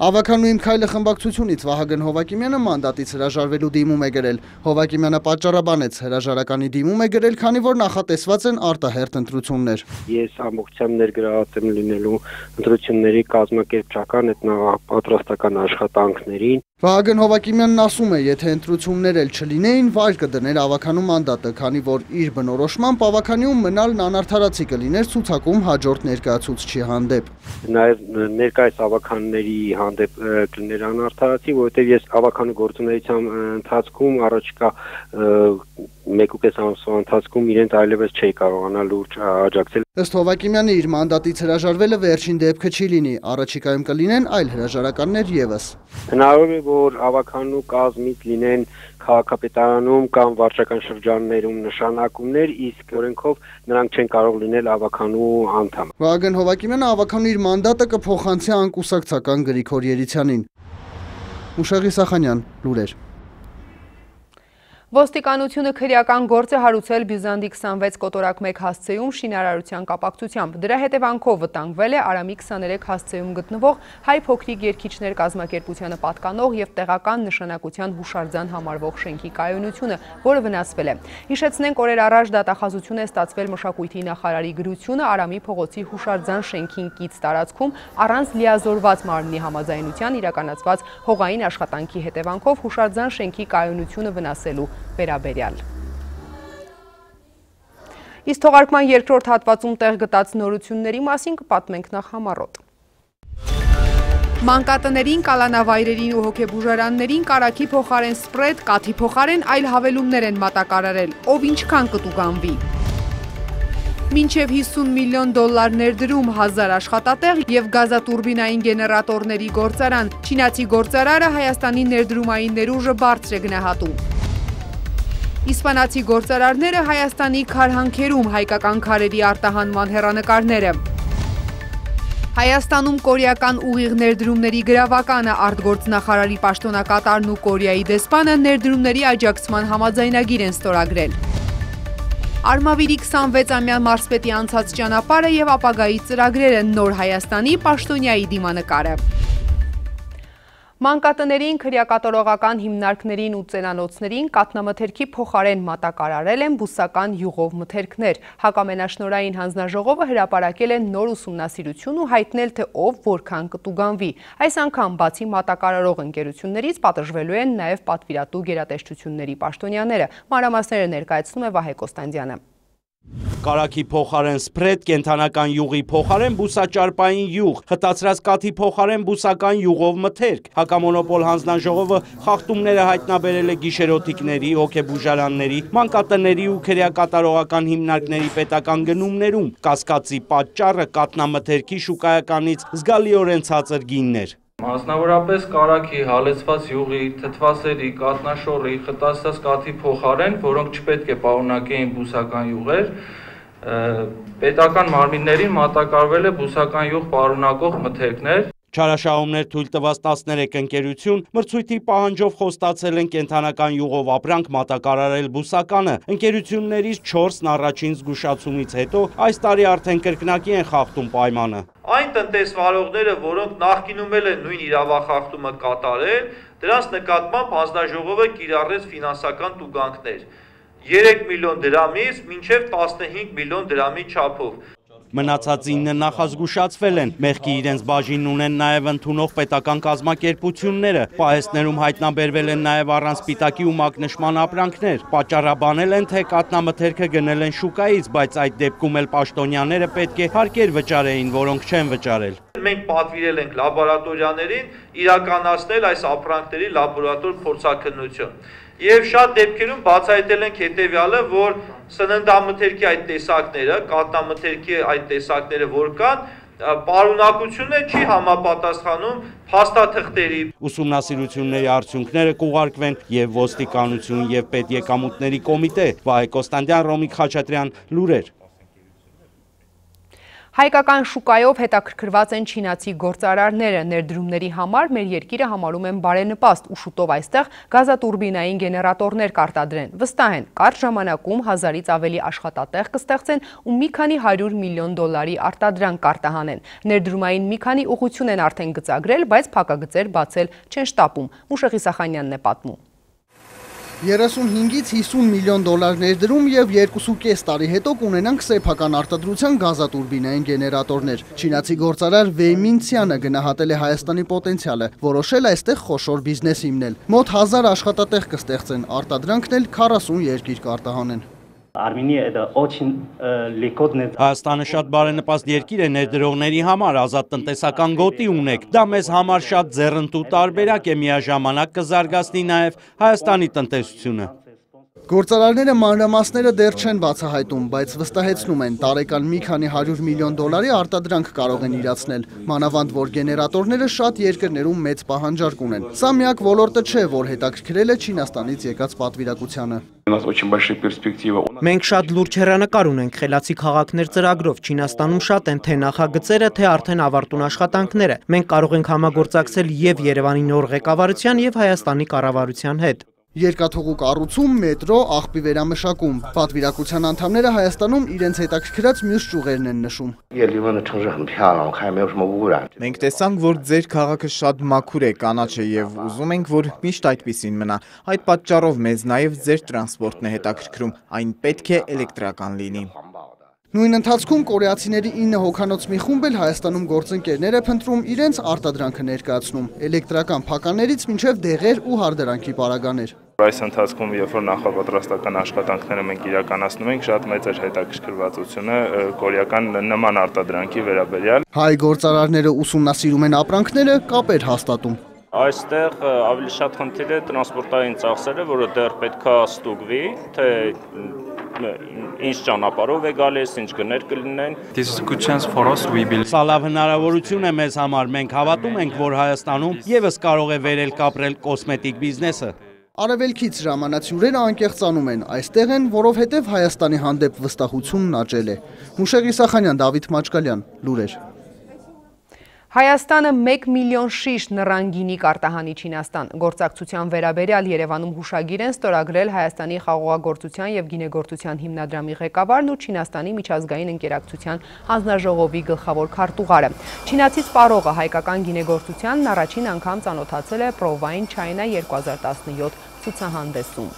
Ավականու իմ քայլը խմբակցությունից Վահագն Հովակիմյանը մանդատից հրաժարվելու դիմում է գրել։ Հովակիմյանը պատճառաբանեց, հրաժարականի դիմում է գրել, քանի որ նախատեսված են արտահերթ ընտրություններ։ Ես ամբողջությամբ ներգրաված եմ լինելու ընտրությունների կազմակերպչական հետնապատրաստական աշխատանքներին։ Վահագն Հովակիմյանն ասում է, եթե ընտրություններ էլ չլինեին, վայր կդներ ավականու մանդատը, քանի որ իր բնորոշմամբ ավականիում մնալն անարդարացի կլիներ ցուցակում հաջորդ ներկայացուցչի հանդեպ։ Նաև ներկայիս ավականների հանդեպ կլիներ անարդարացի, որովհետև ես ավականու գործունեության ընթացքում առաջիկա մեկուկես ամսվա ընթացքում իրենց այլևս չէի կարողանալ լուրջ աջակցել։ Ըստ Հովակիմյանի իր մանդատից հրաժարվելը վերջին դեպքը չի լինի, առաջիկայում կլինեն այլ հրաժարականներ ևս։ Հնարավոր է, որ ավականու կազմից լինեն քաղաքապետարանում կամ վարչական շրջաններում նշանակումներ, իսկ օրենքով նրանք չեն կարող լինել ավականու անդամ։ Վահագն Հովակիմյանը ավականու իր մանդատը կփոխանցի անկուսակցական Գրիգոր Երիցյանին։ Մուշեղի Սախանյան, լուրեր։ Ոստիկանությունը քրեական գործ է հարուցել Բյուզանդի քսանվեց կոտորակ մեկ հասցեում շինարարության կապակցությամբ։ Դրա հետևանքով վտանգվել է Արամի քսաներեք հասցեում գտնվող հայ փոքրիկ երգիչներ կազմակերպությանը պատկանող եւ տեղական նշանակության հուշարձան համարվող շենքի կայունությունը, որը վնասվել է։ Հիշեցնենք, օրեր առաջ դատախազություն է ստացվել մշակույթի նախարարի գրությունը Արամի փողոցի հուշարձան շենքին կից տարածքում առանց լիազորված մարմնի համաձայնության իրականացված հողային աշխատանքի հետևանքով հուշարձան շենքի կայունությունը վնասելու վերաբերյալ։ Իսկ թողարկման երկրորդ հատվածում տեղ գտած նորությունների մասին կպատմենք նախ համառոտ։ Մանկատներին, կալանավայրերին ու հոգեբուժարաններին կարագի փոխարեն սպրեդ, կաթի փոխարեն այլ հավելումներ են մատակարարել, ով ինչքան կտուգանվի։ Մինչև հիսուն միլիոն դոլար ներդրում, հազար աշխատատեղ և գազատուրբինային գեներատորների գործարան։ Չինացի գործարարը Հայաստանի ներդրումային ներուժը բարձր է գնահատում։ Իսպանացի գործարարները Հայաստանի քարհանքերում, հայկական քարերի արտահանման հեռանկարները։ Հայաստանում կորեական ուղիղ ներդրումների գրավականը, արտգործնախարարի պաշտոնակատարն ու Կորեայի դեսպանը ներդրումների աջակցման համաձայնագիր են ստորագրել։ Արմավիրի քսանվեցամյա մարզպետի անցած ճանապարհը և ապագայի ծրագրերը, նոր Հայաստանի պաշտոնյայի դիմանկարը։ Մանկատներին, քրեակատարողական հիմնարկներին ու ծերանոցներին կաթնամթերքի փոխարեն մատակարարել են բուսական յուղով մթերքներ։ Հակամենաշնորհային հանձնաժողովը հրապարակել է նոր ուսումնասիրություն ու հայտնել, թե ով որքան կտուգանվի։ Այս անգամ բացի մատակարարող ընկերություններից պատժվելու են նաև պատվիրատու գերատեսչությունների պաշտոնյաները։ Մանրամասները ներկայացնում է Վահե Կոստանդյանը։ Կարագի փոխարեն սպրեդ, կենդանական յուղի փոխարեն բուսաճարպային յուղ, հտացրած կաթի փոխարեն բուսական յուղով մթերք։ Հակամոնոպոլ հանձնաժողովը խախտումները հայտնաբերել է գիշերօթիկների, հոգեբուժարանների, մանկատների ու քրեակատարողական հիմնարկների պետական գնումներում։ Կասկածի պատճառը կաթնամթերքի շուկայականից զգալիորեն ցածր գինն էր։ Մասնավորապես կարագի, հալեցված յուղի, թթվասերի, կաթնաշորի, խտացված կաթի փոխարեն, որոնք չպետք է պարունակեին բուսական յուղեր, պետական մարմիններին մատակարարվել է բուսական յուղ պարունակող մթերքներ։ Չարաշահումներ թույլ տված տասներեք ընկերություն մրցույթի պահանջով խոստացել են կենդանական յուղով ապրանք մատակարարել բուսականը։ Ընկերություններից չորսն առաջին զգուշացումից հետո այս տարի արդեն կրկնակի են խախտում պայմանը։ Այն տնտեսվարողները, որոնք նախկինում էլ են նույն իրավախախտումը կատարել, դրանց նկատմամբ հանձնաժողովը կիրառեց ֆինանսական տուգանքներ երեք միլիոն դրամից մինչև տասնհինգ միլիոն դրամի չափով։ Մնացած ինը նախազգուշացվել են, մեղքի իրենց բաժինն ունեն նաև ընդունող պետական կազմակերպությունները, պահեստներում հայտնաբերվել են նաև առանց սպիտակի ու մակնշման ապրանքներ, պատճառաբանել են, թե կաթնամթերքը գնել են շուկայից, բայց այդ դեպքում էլ պաշտոնյաները պետք է հարկեր վճարեին, որոնք չեն վճարել։ Մենք պատվիրել ենք լաբորատորիաներին իրականացնել այս ապրանքների լաբորատոր փորձաքննություն։ Եվ շատ դեպքերում բացահայտել ենք հետևյալը, որ սննդամթերքի այդ տեսակները, կաթնամթերքի այդ տեսակները, որ կան, պարունակությունը չի համապատասխանում փաստաթղթերի։ Ուսումնասիրությունների արդյունքները կուղարկվեն եւ ոստիկանություն եւ պետեկամուտների կոմիտե։ Վահե Կոստանդյան, Ռոմիկ Խաչատրյան, լուրեր։ Հայկական շուկայով հետաքրքրված են չինացի գործարարները, ներդրումների համար մեր երկիրը համարում են բարենպաստ ու շուտով այստեղ գազատուրբինային գեներատորներ կարտադրեն։ Վստահ են, կարճ ժամանակում հազարից ավելի աշխատատեղ կստեղծեն ու մի քանի հարյուր միլիոն դոլարի արտադրանք կարտահանեն։ Ներդրումային մի քանի ուղղություն են արդեն գծագրել, բայց փակագծեր բացել չեն շտապում։ Մուշեղի Սախանյանն է պատմում։ երեսունհինգից հիսուն միլիոն դոլար ներդրում և երկուսուկես տարի հետո կունենանք սեփական արտադրության գազատուրբինային գեներատորներ։ Չինացի գործարար Վեյ Մինցյանը գնահատել է Հայաստանի պոտենցիալը, որոշել այստեղ խոշոր բիզնես հիմնել։ Մոտ հազար աշխատատեղ կստեղծեն, արտադրանքն էլ քառասուն երկիր կարտահանեն։ Հայաստանը շատ բարենպաստ երկիր է ներդրողների համար, ազատ տնտեսական գոտի ունեք։ Դա մեզ համար շատ ձեռնտու տարբերակ է, միաժամանակ կզարգացնի նաև Հայաստանի տնտեսությունը։ Գործարարները մանրամասները դեռ չեն բացահայտում, բայց վստահեցնում են, տարեկան մի քանի հարյուր միլիոն դոլարի արտադրանք կարող են իրացնել, մանավանդ որ գեներատորները շատ երկրներում մեծ պահանջարկ ունեն։ Սա միակ ոլորտը չէ, որ հետաքրքրել է Չինաստանից եկած պատվիրակությանը։ Մենք շատ լուրջ հեռանկար ունենք խելացի քաղաքներ ծրագրով, Չինաստանում շատ են թե նախագծերը, թե արդեն ավարտուն աշխատանքները։ Մենք կարող ենք համագործակցել և Երևանի նոր ղեկավարության և Հայաստանի կառավարության հետ։ Երկաթուղու կառուցում, մետրո, աղբի վերամշակում։ Պատվիրակության անդամները Հայաստանում իրենց հետաքրքրած մյուս ճյուղերն են նշում։ Մենք տեսանք, որ ձեր քաղաքը շատ մաքուր է, կանաչ է եւ ուզում ենք, որ միշտ այդպիսին մնա։ Այդ պատճառով մեզ նաեւ ձեր տրանսպորտն է հետաքրքրում, այն պետք է էլեկտրական լինի։ Նույն ընթացքում կորեացիների ինը հոգանոց մի խումբ էլ Հայաստանում գործընկերներ է փնտրում իրենց արտադրանքը ներկայացնում, էլեկտրական փականներից մինչև դեղեր ու հարդարանքի պարագաներ։ Այս ընթացքում, երբ որ նախապատրաստական աշխատանքները մենք իրականացնում ենք, շատ մեծ էր հետաքրքրվածությունը կորեական նման արտադրանքի վերաբերյալ։ Հայ գործարարները ուսումնասիրում են ապրանքները, կապ էր հաստատում։ Այստեղ ավելի շատ խնդիր է տրանսպորտային ծախսերը, որը դեռ պետքա ստուգվի, թե ինչ ճանապարհով է գալիս, ինչ գներ կլինեն։ Սա լավ հնարավորություն է մեզ համար, մենք հավատում ենք, որ Հայաստանում ևս կարող է վերել կապրել կոսմետիկ բիզնեսը։ Արևելքից ժամանացյուրերը անկեղծանում են, այստեղ են, որովհետև Հայաստանի հանդեպ վստահությունն աճել է։ Մուշեղ Իսախանյան, Դավիթ Մաչկալյան, լուրեր։ Հայաստանը մեկ միլիոն շիշ նռան գինի կարտահանի Չինաստան։ Գործակցության վերաբերյալ Երևանում հուշագիր են ստորագրել Հայաստանի խաղողագործության և գինեգործության հիմնադրամի ղեկավարն ու Չինաստանի միջազգային ընկերակցության հանձնաժողովի գլխավոր քարտուղարը։ Չինացի սպառողը հայկական գինեգործությանն առաջին անգամ ծանոթացել է Provine China երկու հազար տասնյոթ ցուցահանդեսում։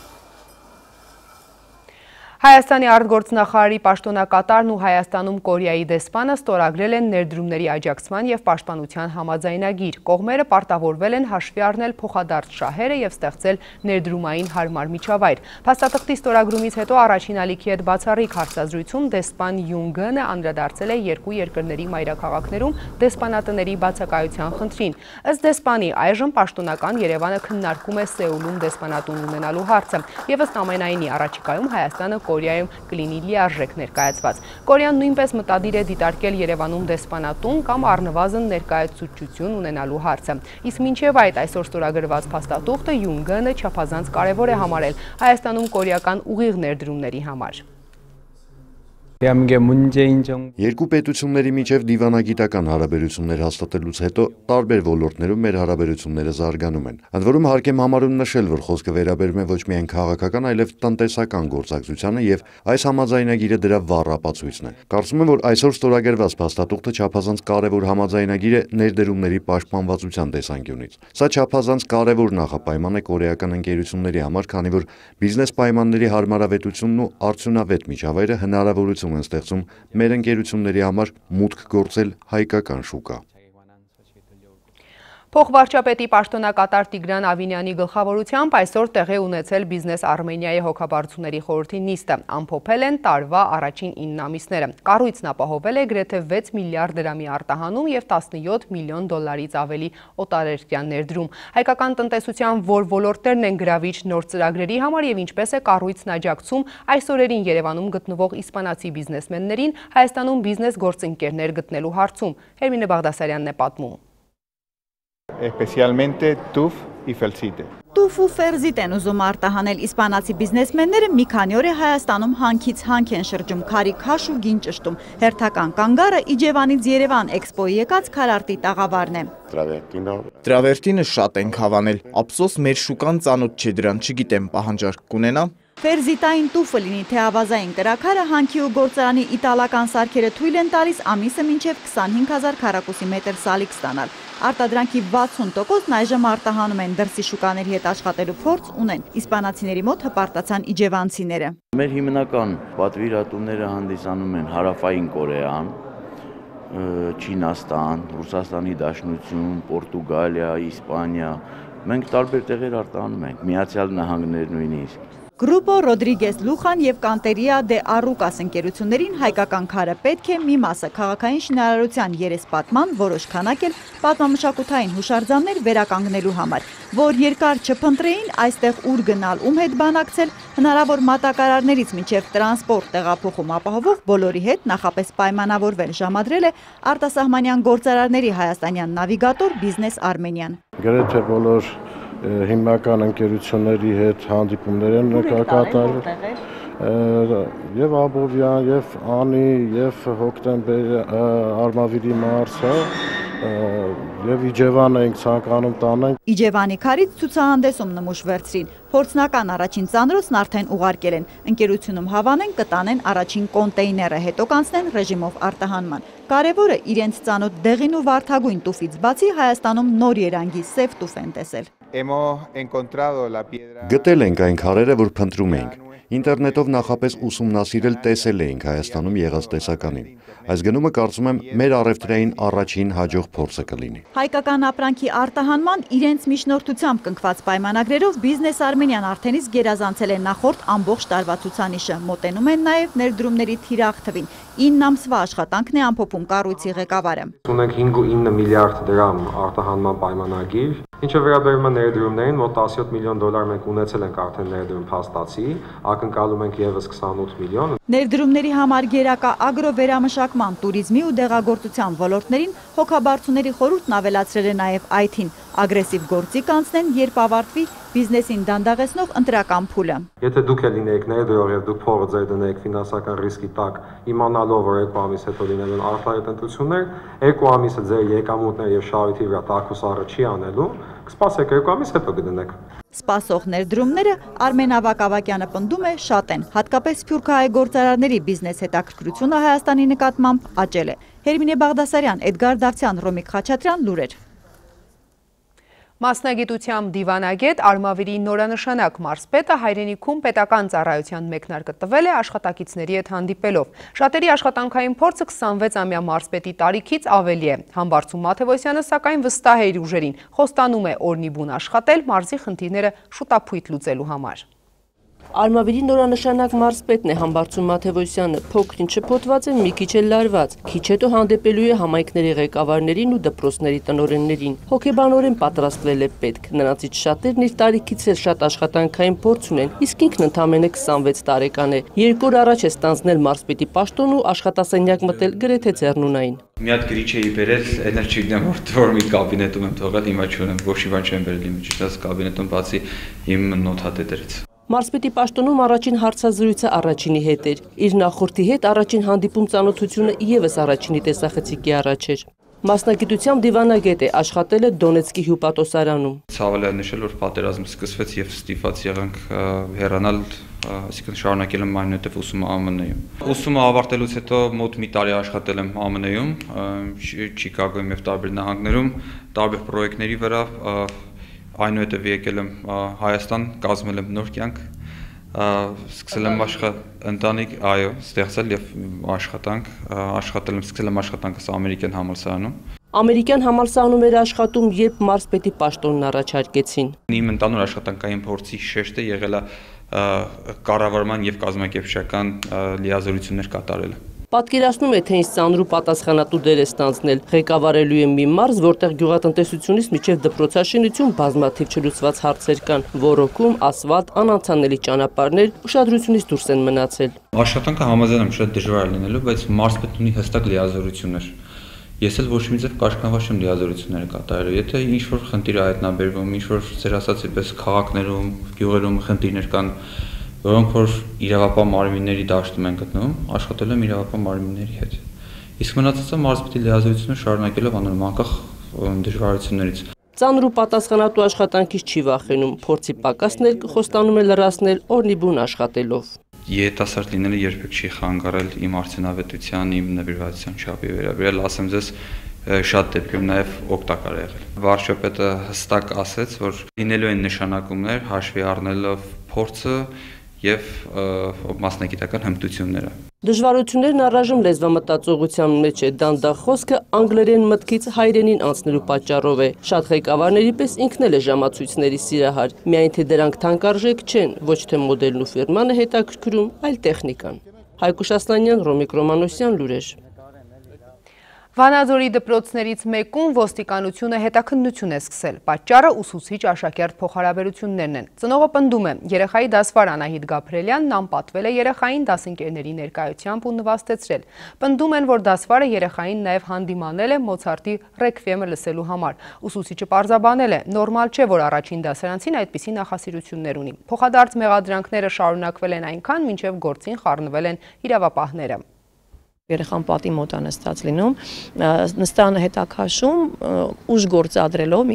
Հայաստանի արտգործնախարարի պաշտոնակատարն ու Հայաստանում Կորեայի դեսպանը ստորագրել են ներդրումների աջակցման և պաշտպանության համաձայնագիր։ Կողմերը պարտավորվել են հաշվի առնել փոխադարձ շահերը և ստեղծել ներդրումային հարմար միջավայր։ Փաստաթղթի ստորագրումից հետո առաջին ալիքի հետ բացառիկ հարցազրույցում դեսպան Յուն Գը անդրադարձել է երկու երկրների մայրաքաղաքներում դեսպանատների բացակայության խնդրին։ Ըստ դեսպանի, այժմ պաշտոնական Երևանը քննարկում է Սեուլում դեսպանատուն ունենալու հարցը, և ըստ ամենայնի առաջիկայում Հայաստանը Կորեայում կլինի լիարժեք ներկայացված։ Կորեան նույնպես մտադիր է դիտարկել Երևանում դեսպանատուն կամ առնվազն ներկայացուցչություն ունենալու հարցը։ Իսկ մինչև այդ այսօր ստորագրված փաստաթուղթը Յուն Գը չափազանց կարևոր է համարել Հայաստանում կորեական ուղիղ ներդրումների համար։ Երկու պետությունների միջև դիվանագիտական հարաբերություններ հաստատելուց հետո տարբեր ոլորտներում մեր հարաբերությունները զարգանում են։ Ընդ որում հարկ եմ համարում նշել, որ խոսքը վերաբերում է ոչ միայն քաղաքական, այլև տնտեսական գործակցությանը եւ այս համաձայնագիրը դրա վառ ապացույցն է։ Կարծում եմ, որ այսօր ստորագրված փաստաթուղթը չափազանց կարևոր համաձայնագիր է ներդրումների պաշտպանվածության տեսանկյունից։ Սա չափազանց կարևոր նախապայման է կորեական ընկերությունների համար, քանի որ բիզնես պայմանների հարմարավետությունն ու արդյունավետ միջավայրը հնարավորություն են ստեղծում մեր ընկերությունների համար մուտք գործել հայկական շուկա։ Փոխվարչապետի պաշտոնակատար Տիգրան Ավինյանի գլխավորությամբ այսօր տեղի ունեցել Բիզնես Արմենիայի հոգաբարձուների խորհրդի նիստը, ամփոփել են տարվա առաջին ինը ամիսները։ Կառույցն ապահովել է գրեթե վեց միլիարդ դրամի արտահանում և տասնյոթ միլիոն դոլարից ավելի օտարերկրյա ներդրում։ Հայկական տնտեսության որ ոլորտներն են գրավիչ նոր ծրագրերի համար և ինչպես է կառույցն աջակցում այս օրերին Երևանում գտնվող իսպանացի բիզնեսմեններին Հայաստանում բիզնես գործընկերներ գտնելու հարցում։ Հերմինե Բաղդասարյանն է պատմում։ Especialmente T U F y Felsite. Տուֆ ու ֆերզիտ են ուզում արտահանել իսպանացի բիզնեսմենները մի քանի օր է Հայաստանում հանքից հանք են շրջում, քարի քաշ ու գին ճշտում։ Հերթական կանգառը Իջևանից Երևան էքսպոյի եկած քարարտի տաղավարն է։ Տրավերտինը շատ ենք հավանել, ափսոս մեր շուկան ծանոթ չէ դրան, չգիտեմ պահանջարկ կունենա։ Ֆերզիտային տուֆը լինի թե ավազային կրաքարը հանքի ու գործարանի իտալական սարքերը թույլ են տալիս ամիսը մինչև քսանհինգ հազար քառակուսի մետր սալիկ ստանալ։ Արտադրանքի վաթսուն տոկոսն այժմ արտահանում են, դրսի շուկաների հետ աշխատելու փորձ ունեն։ Իսպանացիների մոտ հպարտացան իջևանցիները։ Մեր հիմնական պատվիրատուները հանդիսանում են Հարավային Կորեան, Չինաստան, Ռուսաստանի Դաշնություն, Պորտուգալիա, Իսպանիա։ Մենք տարբեր տեղեր արտահանում ենք, Միացյալ Նահանգներ նույնիսկ։ Գրուպո Ռոդրիգես Լուխան և Կանտերիա դե Արուկաս ընկերություններին հայկական քարը պետք է մի մասը քաղաքային շինարարության երեսպատման, որոշ քանակ էլ պատմամշակութային հուշարձաններ վերականգնելու համար, որ երկար չփնտրեին այստեղ ուր գնալ, ում հետ բանակցել, հնարավոր մատակարարներից մինչև տրանսպորտ տեղափոխում ապահովող բոլորի հետ նախապես պայմանավորվել ժամադրել է արտասահմանյան գործարարների հայաստանյան նավիգատոր Բիզնես Արմենիան։ Գրեթե բոլոր հիմնական ընկերությունների հետ հանդիպումներ են կատարել եւ Աբովյան, եւ Անի, եւ հոկտեմբեր Արմավիրի մարսը Եվ Իջևանը ենք ցանկանում տանենք։ Իջևանի քարից ցուցահանդեսում նմուշ վերցրին։ Փորձնական առաջին ծանրոցն արդեն ուղարկել են։ Ընկերությունում հավանեն կտանեն առաջին կոնտեյները, հետո կանցնեն ռեժիմով արտահանման։ Կարևորը իրենց ծանոթ դեղին ու վարդագույն տուֆից բացի Հայաստանում նոր երանգի սև տուֆ են տեսել։ Գտել ենք այն քարերը, որ փնտրում էինք։ Ինտերնետով նախապես ուսումնասիրել տեսել էինք Հայաստանում եղած տեսականին։ Այս գնումը կարծում եմ մեր առևտրային առաջին հաջող փորձը կլինի։ Հայկական ապրանքի արտահանման իրենց միջնորդությամբ կնքված պայմանագրերով Բիզնես Արմենիան արդեն իսկ գերազանցել է նախորդ ամբողջ տարվա ցուցանիշը։ Մոտենում են նաև ներդրումների թիրախ թվին։ ինը ամսվա աշխատանքն է ամփոփում կառույցի ղեկավարը։ Ունենք հինգ ու ինը միլիարդ դրամ արտահանման պայմանագիր, ինչը վերաբերում է ներդրումներին, մոտ տասնյոթ միլիոն դոլար մենք ունեցել ենք արդեն ներդրում փաստացի, ակնկալում ենք եւս քսանութ միլիոն։ Ներդրումների համար գերակա ագրովերամշակման, туриզմի ու դեղագործության ոլորտներին հոգաբարձուների խորհուրդն ավելացրել է նաև այ թին։ Ագրեսիվ գործի կանցնեն, երբ ավարտվի բիզնեսին դանդաղեցնող ընտրական փուլը։ Եթե դուք էլ լինեիք ներդրող եւ դուք փողը ձեր դնեիք ֆինանսական ռիսկի տակ, իմանալով որ երկու ամիս հետո լինելու են արտահայտ ընտրություններ, երկու ամիսը ձեր եկամուտներ եւ շահույթի վրա տաքուսառը չի անելու, կսպասեք երկու ամիս հետո կդնեք։ Սպասող ներդրումները Արմեն Ավագ-Ավագյանը պնդում է շատ են, հատկապես սփյուռքահայ գործարարների բիզնես հետաքրքրությունը Հայաստանի նկատմամբ աճել է։ Հերմինե Բաղդասարյան, Էդգար Դավթյան, Ռոմիկ Խաչատրյան, լուրեր։ Մասնագիտությամբ դիվանագետ Արմավիրի նորանշանակ մարզպետը հայրենիքում պետական ծառայության մեկնարկը տվել է աշխատակիցների հետ հանդիպելով։ Շատերի աշխատանքային փորձը քսանվեց-ամյա մարզպետի տարիքից ավելի է։ Համբարձում Մաթևոսյանը սակայն վստահ է իր ուժերին, խոստանում է օրնի բուն աշխատել մարզի խնդիրները շուտափույթ լուծելու համար։ Արմավիրի նորանշանակ մարզպետն է Համբարձում Մաթևոսյանը, փոքրին շփոթված են, մի քիչ էլ լարված, քիչ հետո հանդիպելու է համայնքների ղեկավարներին ու դպրոցների տնօրեններին։ Հոգեբանորեն պատրաստվել է պետք, նրանցից շատերն իր տարիքից էլ շատ աշխատանքային փորձ ունեն, իսկ ինքն ընդամենը քսանվեց տարեկան է։ Երկու օր առաջ է ստանձնել մարզպետի պաշտոն ու աշխատասենյակ մտել գրեթե ձեռնունային։ Մի հատ գրիչ էի բերել, այն էլ չգիտեմ որ մի կաբինետում եմ թողել, հիմա չունեմ, ոչ մի բան չեմ բերել իմ ճիշտ կաբինետում բացի իմ նոթատետերից։ Մարզպետի պաշտոնում առաջին հարցազրույցը առաջինի հետ էր։ Իր նախորդի հետ առաջին հանդիպում ծանոթությունը ևս առաջինի տեսախցիկի առաջ էր։ Մասնագիտությամբ դիվանագետ է, աշխատել է Դոնեցկի հյուպատոսարանում։ Ցավալի է նշել, որ պատերազմը սկսվեց եւ ստիպված եղանք հեռանալ, այսինքն շարունակել եմ այնուհետև ուսումը Α M N-ում։ Ուսումը ավարտելուց հետո մոտ մի տարի աշխատել եմ Α M N-ում, Չիկագոյում եւ տարբեր նահանգներում, տարբեր պրոյեկտների վրա, այնուհետև եկել եմ Հայաստան, կազմել եմ նոր կյանք, սկսել եմ ընտանիք, այո, ստեղծել եւ աշխատանք, աշխատել եմ, սկսել եմ աշխատանքս ամերիկյան համալսարանում։ Ամերիկյան համալսարանում էր աշխատում, երբ մարզպետի պաշտոնն առաջարկեցին։ Իմ ընդանուր աշխատանքային փորձի շեշտը եղել է կառավարման եւ կազմակերպչական լիազորություններ կատարելը։ Պատկերացնում է, թե ինչ ծանր ու պատասխանատու դեր է ստանձնել, ղեկավարելու է մի մարզ, որտեղ գյուղատնտեսությունից մինչև դպրոցաշինություն բազմաթիվ չլուծված հարցեր կան, ոռոգում, ասֆալտ, անանցանելի ճանապարհներ ուշադրությունից դուրս են մնացել։ Աշխատանքը համաձայն եմ շատ դժվար է լինելու, բայց մարզպետն ունի հստակ լիազորություններ։ Ես էլ ոչ մի ձև կաշկնված չեմ լիազորությունները կատարելու։ Եթե ինչ-որ խնդիր է հայտնաբերվում, ինչ-որ ձեր ասած այդպես քաղաքներում, գյուղերում խնդիրներ կան, որոնք որ իրավապահ մարմինների դաշտում են գտնվում, աշխատել եմ իրավապահ մարմինների հետ։ Իսկ մնացածը մարզպետի լիազորությունը շարունակելով անում անկախ դժվարություններից։ Ծանր ու պատասխանատու աշխատանքից չի վախենում, փորձի պակասն էլ խոստանում է լրացնել օրնի բուն աշխատելով։ Երիտասարդ լինելը երբեք չի խանգարել իմ արդյունավետության, իմ նվիրվածության չափի վերաբերյալ, ասեմ ձեզ, շատ դեպքերում նաև օգտակար է եղել։ Վարչապետը հստակ ասեց, որ լինելու են նշանակումներ, հաշվի առնելով փորձը եւ մասնագիտական հմտությունները։ Դժվարություններն առայժմ լեզվամտածողության մեջ է, դանդաղ խոսքը անգլերեն մտքից հայրենին անցնելու պատճառով է։ Շատ ղեկավարների պես ինքն էլ է ժամացույցների սիրահար, միայն թե դրանք թանկարժեք չեն, ոչ թե մոդելն ու ֆիրման է հետաքրքրում, այլ տեխնիկան։ Հայկուշ Ասլանյան, Ռոմիկ Ռոմանոսյան, լուրեր։ Վանաձորի դպրոցներից մեկում ոստիկանությունը հետաքննություն է սկսել։ Պատճառը ուսուցիչ աշակերտ փոխհարաբերություններն են։ Ծնողը պնդում է, երեխայի դասվար Անահիտ Գաբրելյանն անպատվել է երեխային դասընկերների ներկայությամբ ու նվաստեցրել։ Պնդում են, որ դասվարը երեխային նաև հանդիմանել է Մոցարտի ռեքվիեմը լսելու համար։ Ուսուցիչը պարզաբանել է, նորմալ չէ, որ առաջին դասարանցին այդպիսի նախասիրություններ ունի։ Փոխադարձ մեղադրանքները շարունակվել են այնքան, մինչև գործին խառնվել են իրավապահները։ Երեխան պատի մոտ է նստած լինում, նստանը հետաքաշում, ուժ գործադրելով,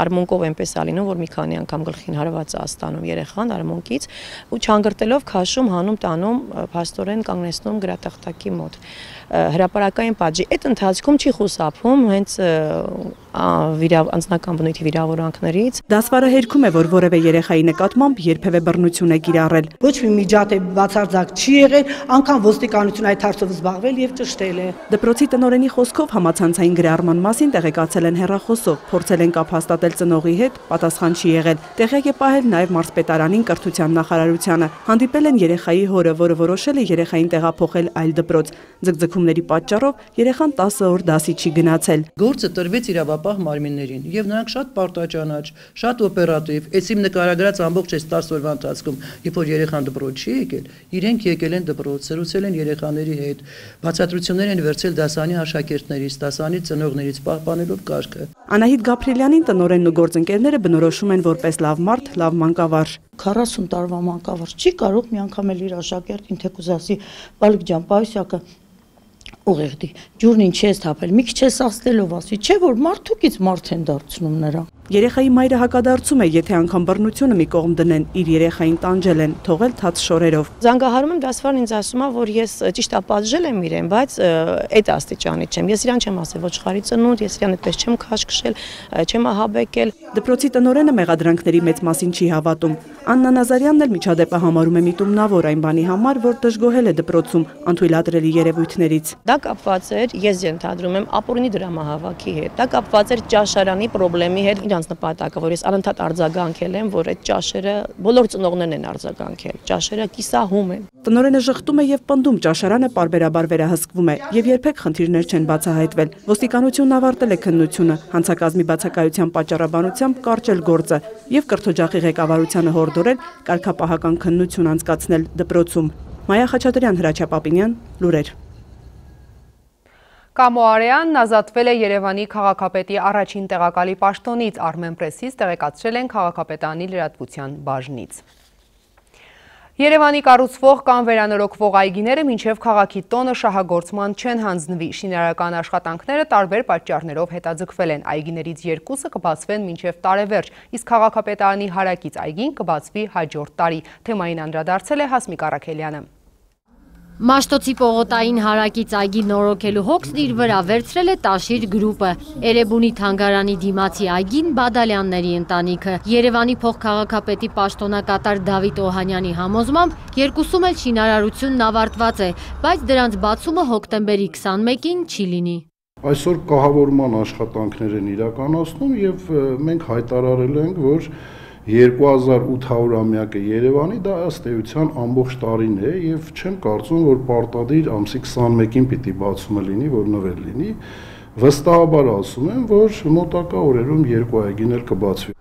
արմունկով այնպես է լինում, որ մի քանի անգամ գլխին հարված է ստանում երեխան արմունկից ու չանգրտելով քաշում, հանում, տանում, փաստորեն կանգնեցնում գրատախտակի մոտ։ Հրապարակային պատժի այդ ընթացքում չի խուսափում հենց անձնական բնույթի վիրավորանքներից։ Դասվարը հերքում է, որ որևէ երեխայի նկատմամբ երբևէ բռնություն է կիրառել։ Ոչ մի միջադեպ բացարձակ չի եղել, անգամ ոստիկանությունը այդ հարցով զբաղվել եւ ճշտել է։ Դպրոցի տնօրենի խոսքով համացանցային գրառման մասին տեղեկացել են հեռախոսով, փորձել են կապ հաստատել ծնողի հետ, պատասխան չի եղել։ Տեղյակ է պահել նաեւ մարզպետարանին, կրթության նախարարությանը։ Հանդիպել են երեխայի հորը, որը որոշել է երեխային տեղափոխել այլ դպրոց։ Ձգձգումների պատճառով երեխան տասը օր դասի չի գնացել։ Գործը տրվեց իրավապահ մարմիններին եւ նրանք շատ պարտաճանաչ, շատ օպերատիվ, այս իմ նկարագրած ամբողջ այս տասը օրվա ընթացքում, երբ որ երեխան դպրոց չի եկել, իրենք եկել են դպրոց, զրուցել են երեխաների հետ, բացատրություններ են վերցել դասանի աշակերտներից, դասանի ծնողներից, պահպանելով կարգը։ Անահիտ Գաբրիելյանին տնօրենն ու գործընկերները բնորոշում են որպես լավ մարդ, լավ մանկավարժ։ քառասուն տարվա մանկավարժ չի կարող մի անգամ էլ իր աշակերտին թեկուզ ասի՝ «Բալիկ ջան, պայուսակը ուղեղդի, ջուրն ինչ ես թափել, մի քիչ ես ասելով ասի, չէ որ մարդուկից մարդ են դարձնում նրա»։ Երեխայի մայրը հակադարձում է, եթե անգամ բռնությունը մի կողմ դնեն, իր երեխային տանջել են, թողել թաց շորերով։ Զանգահարում եմ, դասվարն ինձ ասում է, որ ես ճիշտ է պատժել եմ իրեն, բայց այդ աստիճանի չեմ։ Ես իրան չեմ ասել ոչխարի ծնունդ, ես իրան այդպես չեմ քաշքշել, չեմ ահաբեկել։ Դպրոցի տնօրենը մեղադրանքների մեծ մասին չի հավատում։ Աննա Նազարյանն էլ միջադեպը համարում է միտումնավոր այն բանի համար, որ դժգոհել է դպրոցում անթույլատրելի երևույթներից։ Դա կապված էր, ես ենթադրում եմ, ապօրինի դրամահավաքի հետ։ Դա կապված էր ճաշարանի խնդրի հետ, իրանց նպատակը, որ ես անընդհատ արձագանքել եմ, որ այդ ճաշերը բոլոր ծնողներն են արձագանքել։ Ճաշերը կիսահում են։ Տնօրենը ժխտում է եւ պնդում, ճաշարանը պարբերաբար վերահսկվում է եւ երբեք խնդիրներ չեն բացահայտվել։ Ոստիկանությունն ավարտել է քննությունը, հանցակազմի բացակայության պատճառաբանությամբ կարճել գործը եւ կրթօջախի ղեկավարությանը հորդորել կարգապահական քննություն անցկացնել դպրոցում։ Մայա Խաչատրյան, Հրաչյա Պապինյան, լուրեր։ Կամո Արեյանն ազատվել է Երևանի քաղաքապետի առաջին տեղակալի պաշտոնից, Armenpress-ից տեղեկացրել են քաղաքապետարանի լրատվության բաժնից։ Երևանի կառուցվող կամ վերանորոգվող այգիները մինչև քաղաքի տոնը շահագործման չեն հանձնվի։ Շինարարական աշխատանքները տարբեր պատճառներով հետաձգվել են։ Այգիներից երկուսը կբացվեն մինչև տարեվերջ, իսկ քաղաքապետարանի հարակից այգին կբացվի հաջորդ տարի։ Թեմային անդրադարձել է Հասմիկ Առաքելյանը։ Մաշտոցի պողոտային հարակից այգի նորոգելու հոգսն իր վրա վերցրել է Տաշիր գրուպը։ Էրեբունի թանգարանի դիմացի այգին Բադալյանների ընտանիքը։ Երևանի փոխքաղաքապետի պաշտոնակատար Դավիթ Օհանյանի համոզմամբ երկուսում էլ շինարարությունն ավարտված է, բայց դրանց բացումը հոկտեմբերի քսանմեկին չի լինի։ Այսօր կահավորման աշխատանքներ են իրականացնում եւ մենք հայտարարել ենք, որ երկու հազար ութ-ամյակը Երևանի դա ըստ էության ամբողջ տարին է եւ չեմ կարծում, որ պարտադիր ամսի քսանմեկին պիտի բացումը լինի, որ նվեր լինի։ Վստահաբար ասում եմ, որ մոտակա օրերում երկու այգին էլ կբացվի։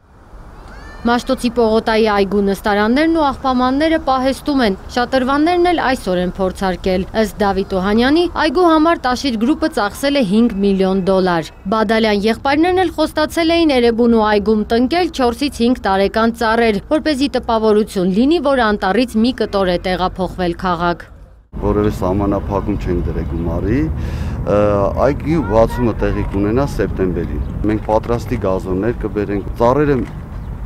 Մաշտոցի պողոտայի այգու նստարաններն ու աղբամանները պահեստում են, շատրվաններն էլ այսօր են փորձարկել։ Ըստ Դավիթ Օհանյանի, այգու համար Տաշիր գրուպը ծախսել է հինգ միլիոն դոլար։ Բադալյան եղբայրներն էլ խոստացել էին Էրեբունու այգում տնկել չորսից հինգ տարեկան ծառեր, որպեսզի տպավորություն լինի, որ անտառից մի կտոր է տեղափոխվել քաղաք։ Որևէ սահմանափակում չենք դրել գումարի, այգի բացումը տեղի կունենա սեպտեմբերին։ Մենք պատրաստի գազոններ կբերենք, ծառերը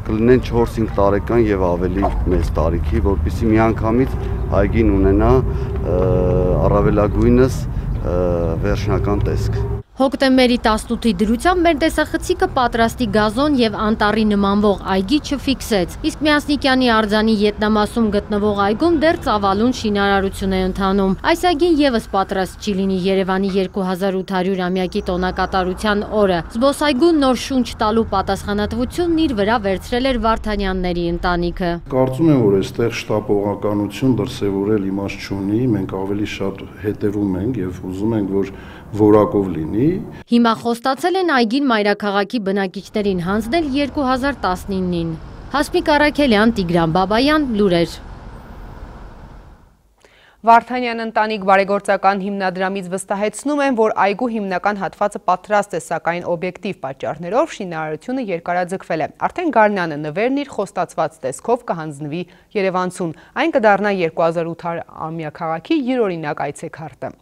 կլինեն չորս-հինգ տարեկան եւ ավելի մեծ տարիքի, որպեսզի միանգամից այգին ունենա առավելագույնս վերջնական տեսք։ Հոկտեմբերի տասնութի դրությամբ մեր տեսախցիկը պատրաստի գազոն եւ անտառի նմանվող այգի չֆիքսեց, իսկ Միասնիկյանի արձանի ետնամասում գտնվող այգում դեռ ծավալուն շինարարություն է ընթանում։ Այս այգին եւս պատրաստ չի լինի Երևանի երկու հազար ութ-ամյակի տոնակատարության օրը։ Զբոսայգուն նոր շունչ տալու պատասխանատվությունն իր վրա վերցրել էր Վարդանյանների ընտանիքը։ Կարծում եմ, որ այստեղ շտապողականություն դրսևորել իմաստ չունի, մենք ավելի շատ հետևում ենք եւ ուզում ենք, որ որակով լինի։ Հիմա խոստացել են այգին մայրաքաղաքի բնակիչներին հանձնել երկու հազար տասնինին։ Հասմիկ Առաքելյան, Տիգրան Բաբայան, լուրեր։ Վարդանյան ընտանիք բարեգործական հիմնադրամից վստահեցնում են, որ այգու հիմնական հատվածը պատրաստ է, սակայն օբյեկտիվ պատճառներով շինարարությունը երկարաձգվել է։ Արդեն Գարնանը նվերն իր խոստացված տեսքով կհանձնվի Երևանցուն։ Այն կդառնա երկու հազար ութ-ամյա քաղաքի յուրօրինակ այցեքարտը։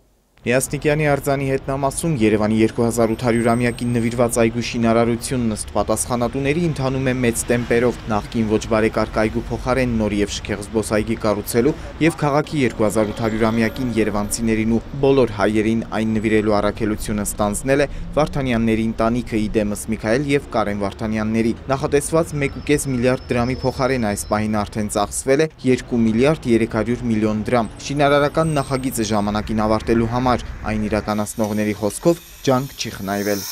Միասնիկյանի արձանի հետնամասում Երևանի երկու հազար ութ հարյուրամյակին նվիրված այգու շինարարությունն ըստ պատասխանատուների ընթանում է մեծ տեմպերով, նախկին ոչ բարեկարգ այգու փոխարեն նոր եւ շքեղ զբոսայգի կառուցելու եւ քաղաքի երկու հազար ութ հարյուրամյակին երևանցիներին ու բոլոր հայերին այն նվիրելու առաքելությունը ստանձնել է Վարդանյանների ընտանիքը Իդեմս Միքայել եւ Կարեն Վարդանյանների։ Նախատեսված մեկ ու կես միլիարդ դրամի փոխարեն այս պահին արդեն ծախսվել է երկու միլիարդ երեք հարյուր միլիոն դրամ։ Շինարարական նախագիծը ժամանակին ավարտելու համար այն իրականացնողների խոսքով ջանք չի խնայվել։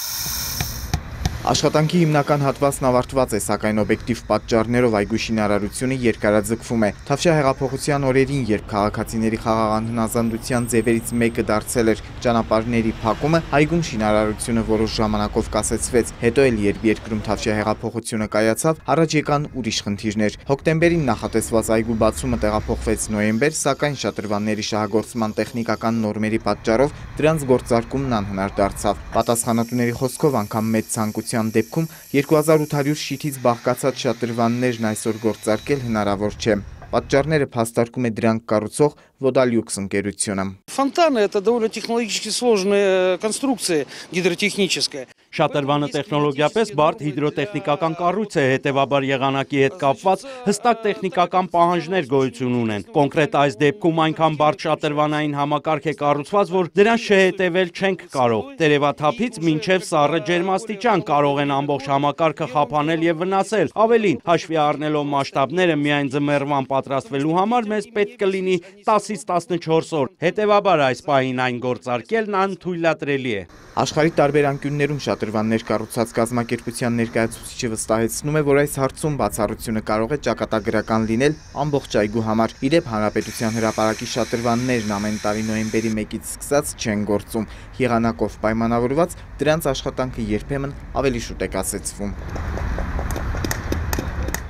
Աշխատանքի հիմնական հատվածն ավարտված է, սակայն օբյեկտիվ պատճառներով այգու շինարարությունը երկարաձգվում է։ Թավշյա հեղափոխության օրերին, երբ քաղաքացիների խաղաղ անհնազանդության ձևերից մեկը դարձել էր ճանապարհների փակումը, այգում շինարարությունը որոշ ժամանակով կասեցվեց։ Հետո էլ, երբ երկրում Թավշյա հեղափոխությունը կայացավ, առաջ եկան ուրիշ խնդիրներ։ Հոկտեմբերին նախատեսված այգու բացումը տեղափոխվեց նոյեմբեր, սակայն շատրվանների շահագործման տեխնիկական նորմերի պատճառով դրանց գործարկումն անհնար դարձավ։ Պատասխանատուների խոսքով անգամ մեծ ցանկության դեպքում երկու հազար ութ հարյուր շիթից բաղկացած շատրվաններն այսօր գործարկել հնարավոր չէ։ Պատճառները փաստարկում է դրանք կառուցող Vodalux ընկերությունը։ Фонтаны это довольно технологически сложная конструкция гидротехническая. Շատրվանը տեխնոլոգիապես բարդ հիդրոտեխնիկական կառույց է, հետևաբար եղանակի հետ կապված հստակ տեխնիկական պահանջներ գոյություն ունեն։ Կոնկրետ այս դեպքում այնքան բարդ շատրվանային համակարգ է կառուցված, որ դրանց չհետևել չենք կարող։ Տերևաթափից մինչև սառը ջերմաստիճան կարող են ամբողջ համակարգը խափանել եւ վնասել։ Ավելին, հաշվի առնելով մասշտաբները, միայն ձմեռվան պատրաստվելու համար մեզ պետք կլինի տասից տասնչորս օր։ Հետևաբար այս պահին այն գործարկելն անթույլատրելի է։ Աշխարհի տարբեր անկյուններում շատրվաններ կառուցած կազմակերպության ներկայացուցիչը վստահեցնում է, որ այս հարցում բացառությունը կարող է ճակատագրական լինել ամբողջ այգու համար։ Իդեպ Հանրապետության հրապարակի շատրվաններն ամեն տարի նոյեմբերի մեկից սկսած չեն գործում։ Եղանակով պայմանավորված դրանց աշխատանքը երբեմն ավելի շուտ է կասեցվում։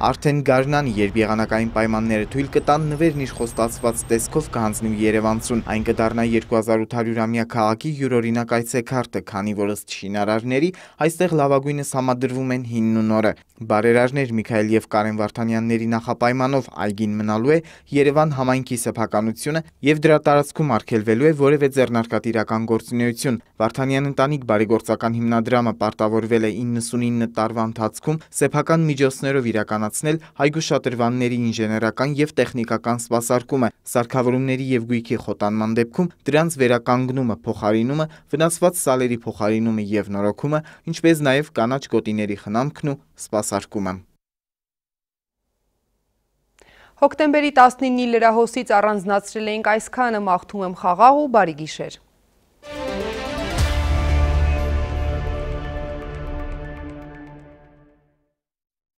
Արդեն գարնան, երբ եղանակային պայմանները թույլ կտան, նվերն իր խոստացված տեսքով կհանձնի Երևանցուն։ Այն կդառնա երկու հազար ութ հարյուրամյա քաղաքի յուրօրինակ այցեքարտը, քանի որ ըստ շինարարների այստեղ լավագույնս համադրվում են հինն ու նորը։ Բարերարներ Միքայել եւ Կարեն Վարդանյանների նախապայմանով այգին մնալու է Երևան համայնքի սեփականությունը եւ դրա տարածքում արգելվելու է որևէ ձեռնարկատիրական գործունեություն։ Վարդանյան ընտանիք բարեգործական հիմնադրամը պարտավորվել է իննսունինը տարվա ընթացքում սեփական միջոցներով իրականացնել այգու շատրվանների ինժեներական եւ տեխնիկական սպասարկումը, սարքավորումների եւ գույքի խոտանման դեպքում դրանց վերականգնումը, փոխարինումը, վնասված սալերի փոխարինումը եւ նորոգումը, ինչպես նաեւ կանաչ գոտիների խնամքն ու սպասարկումը։ Հոկտեմբերի տասնինի լրահոսից առանձնացրել էինք այսքանը, մաղթում եմ խաղաղ ու բարի գիշեր։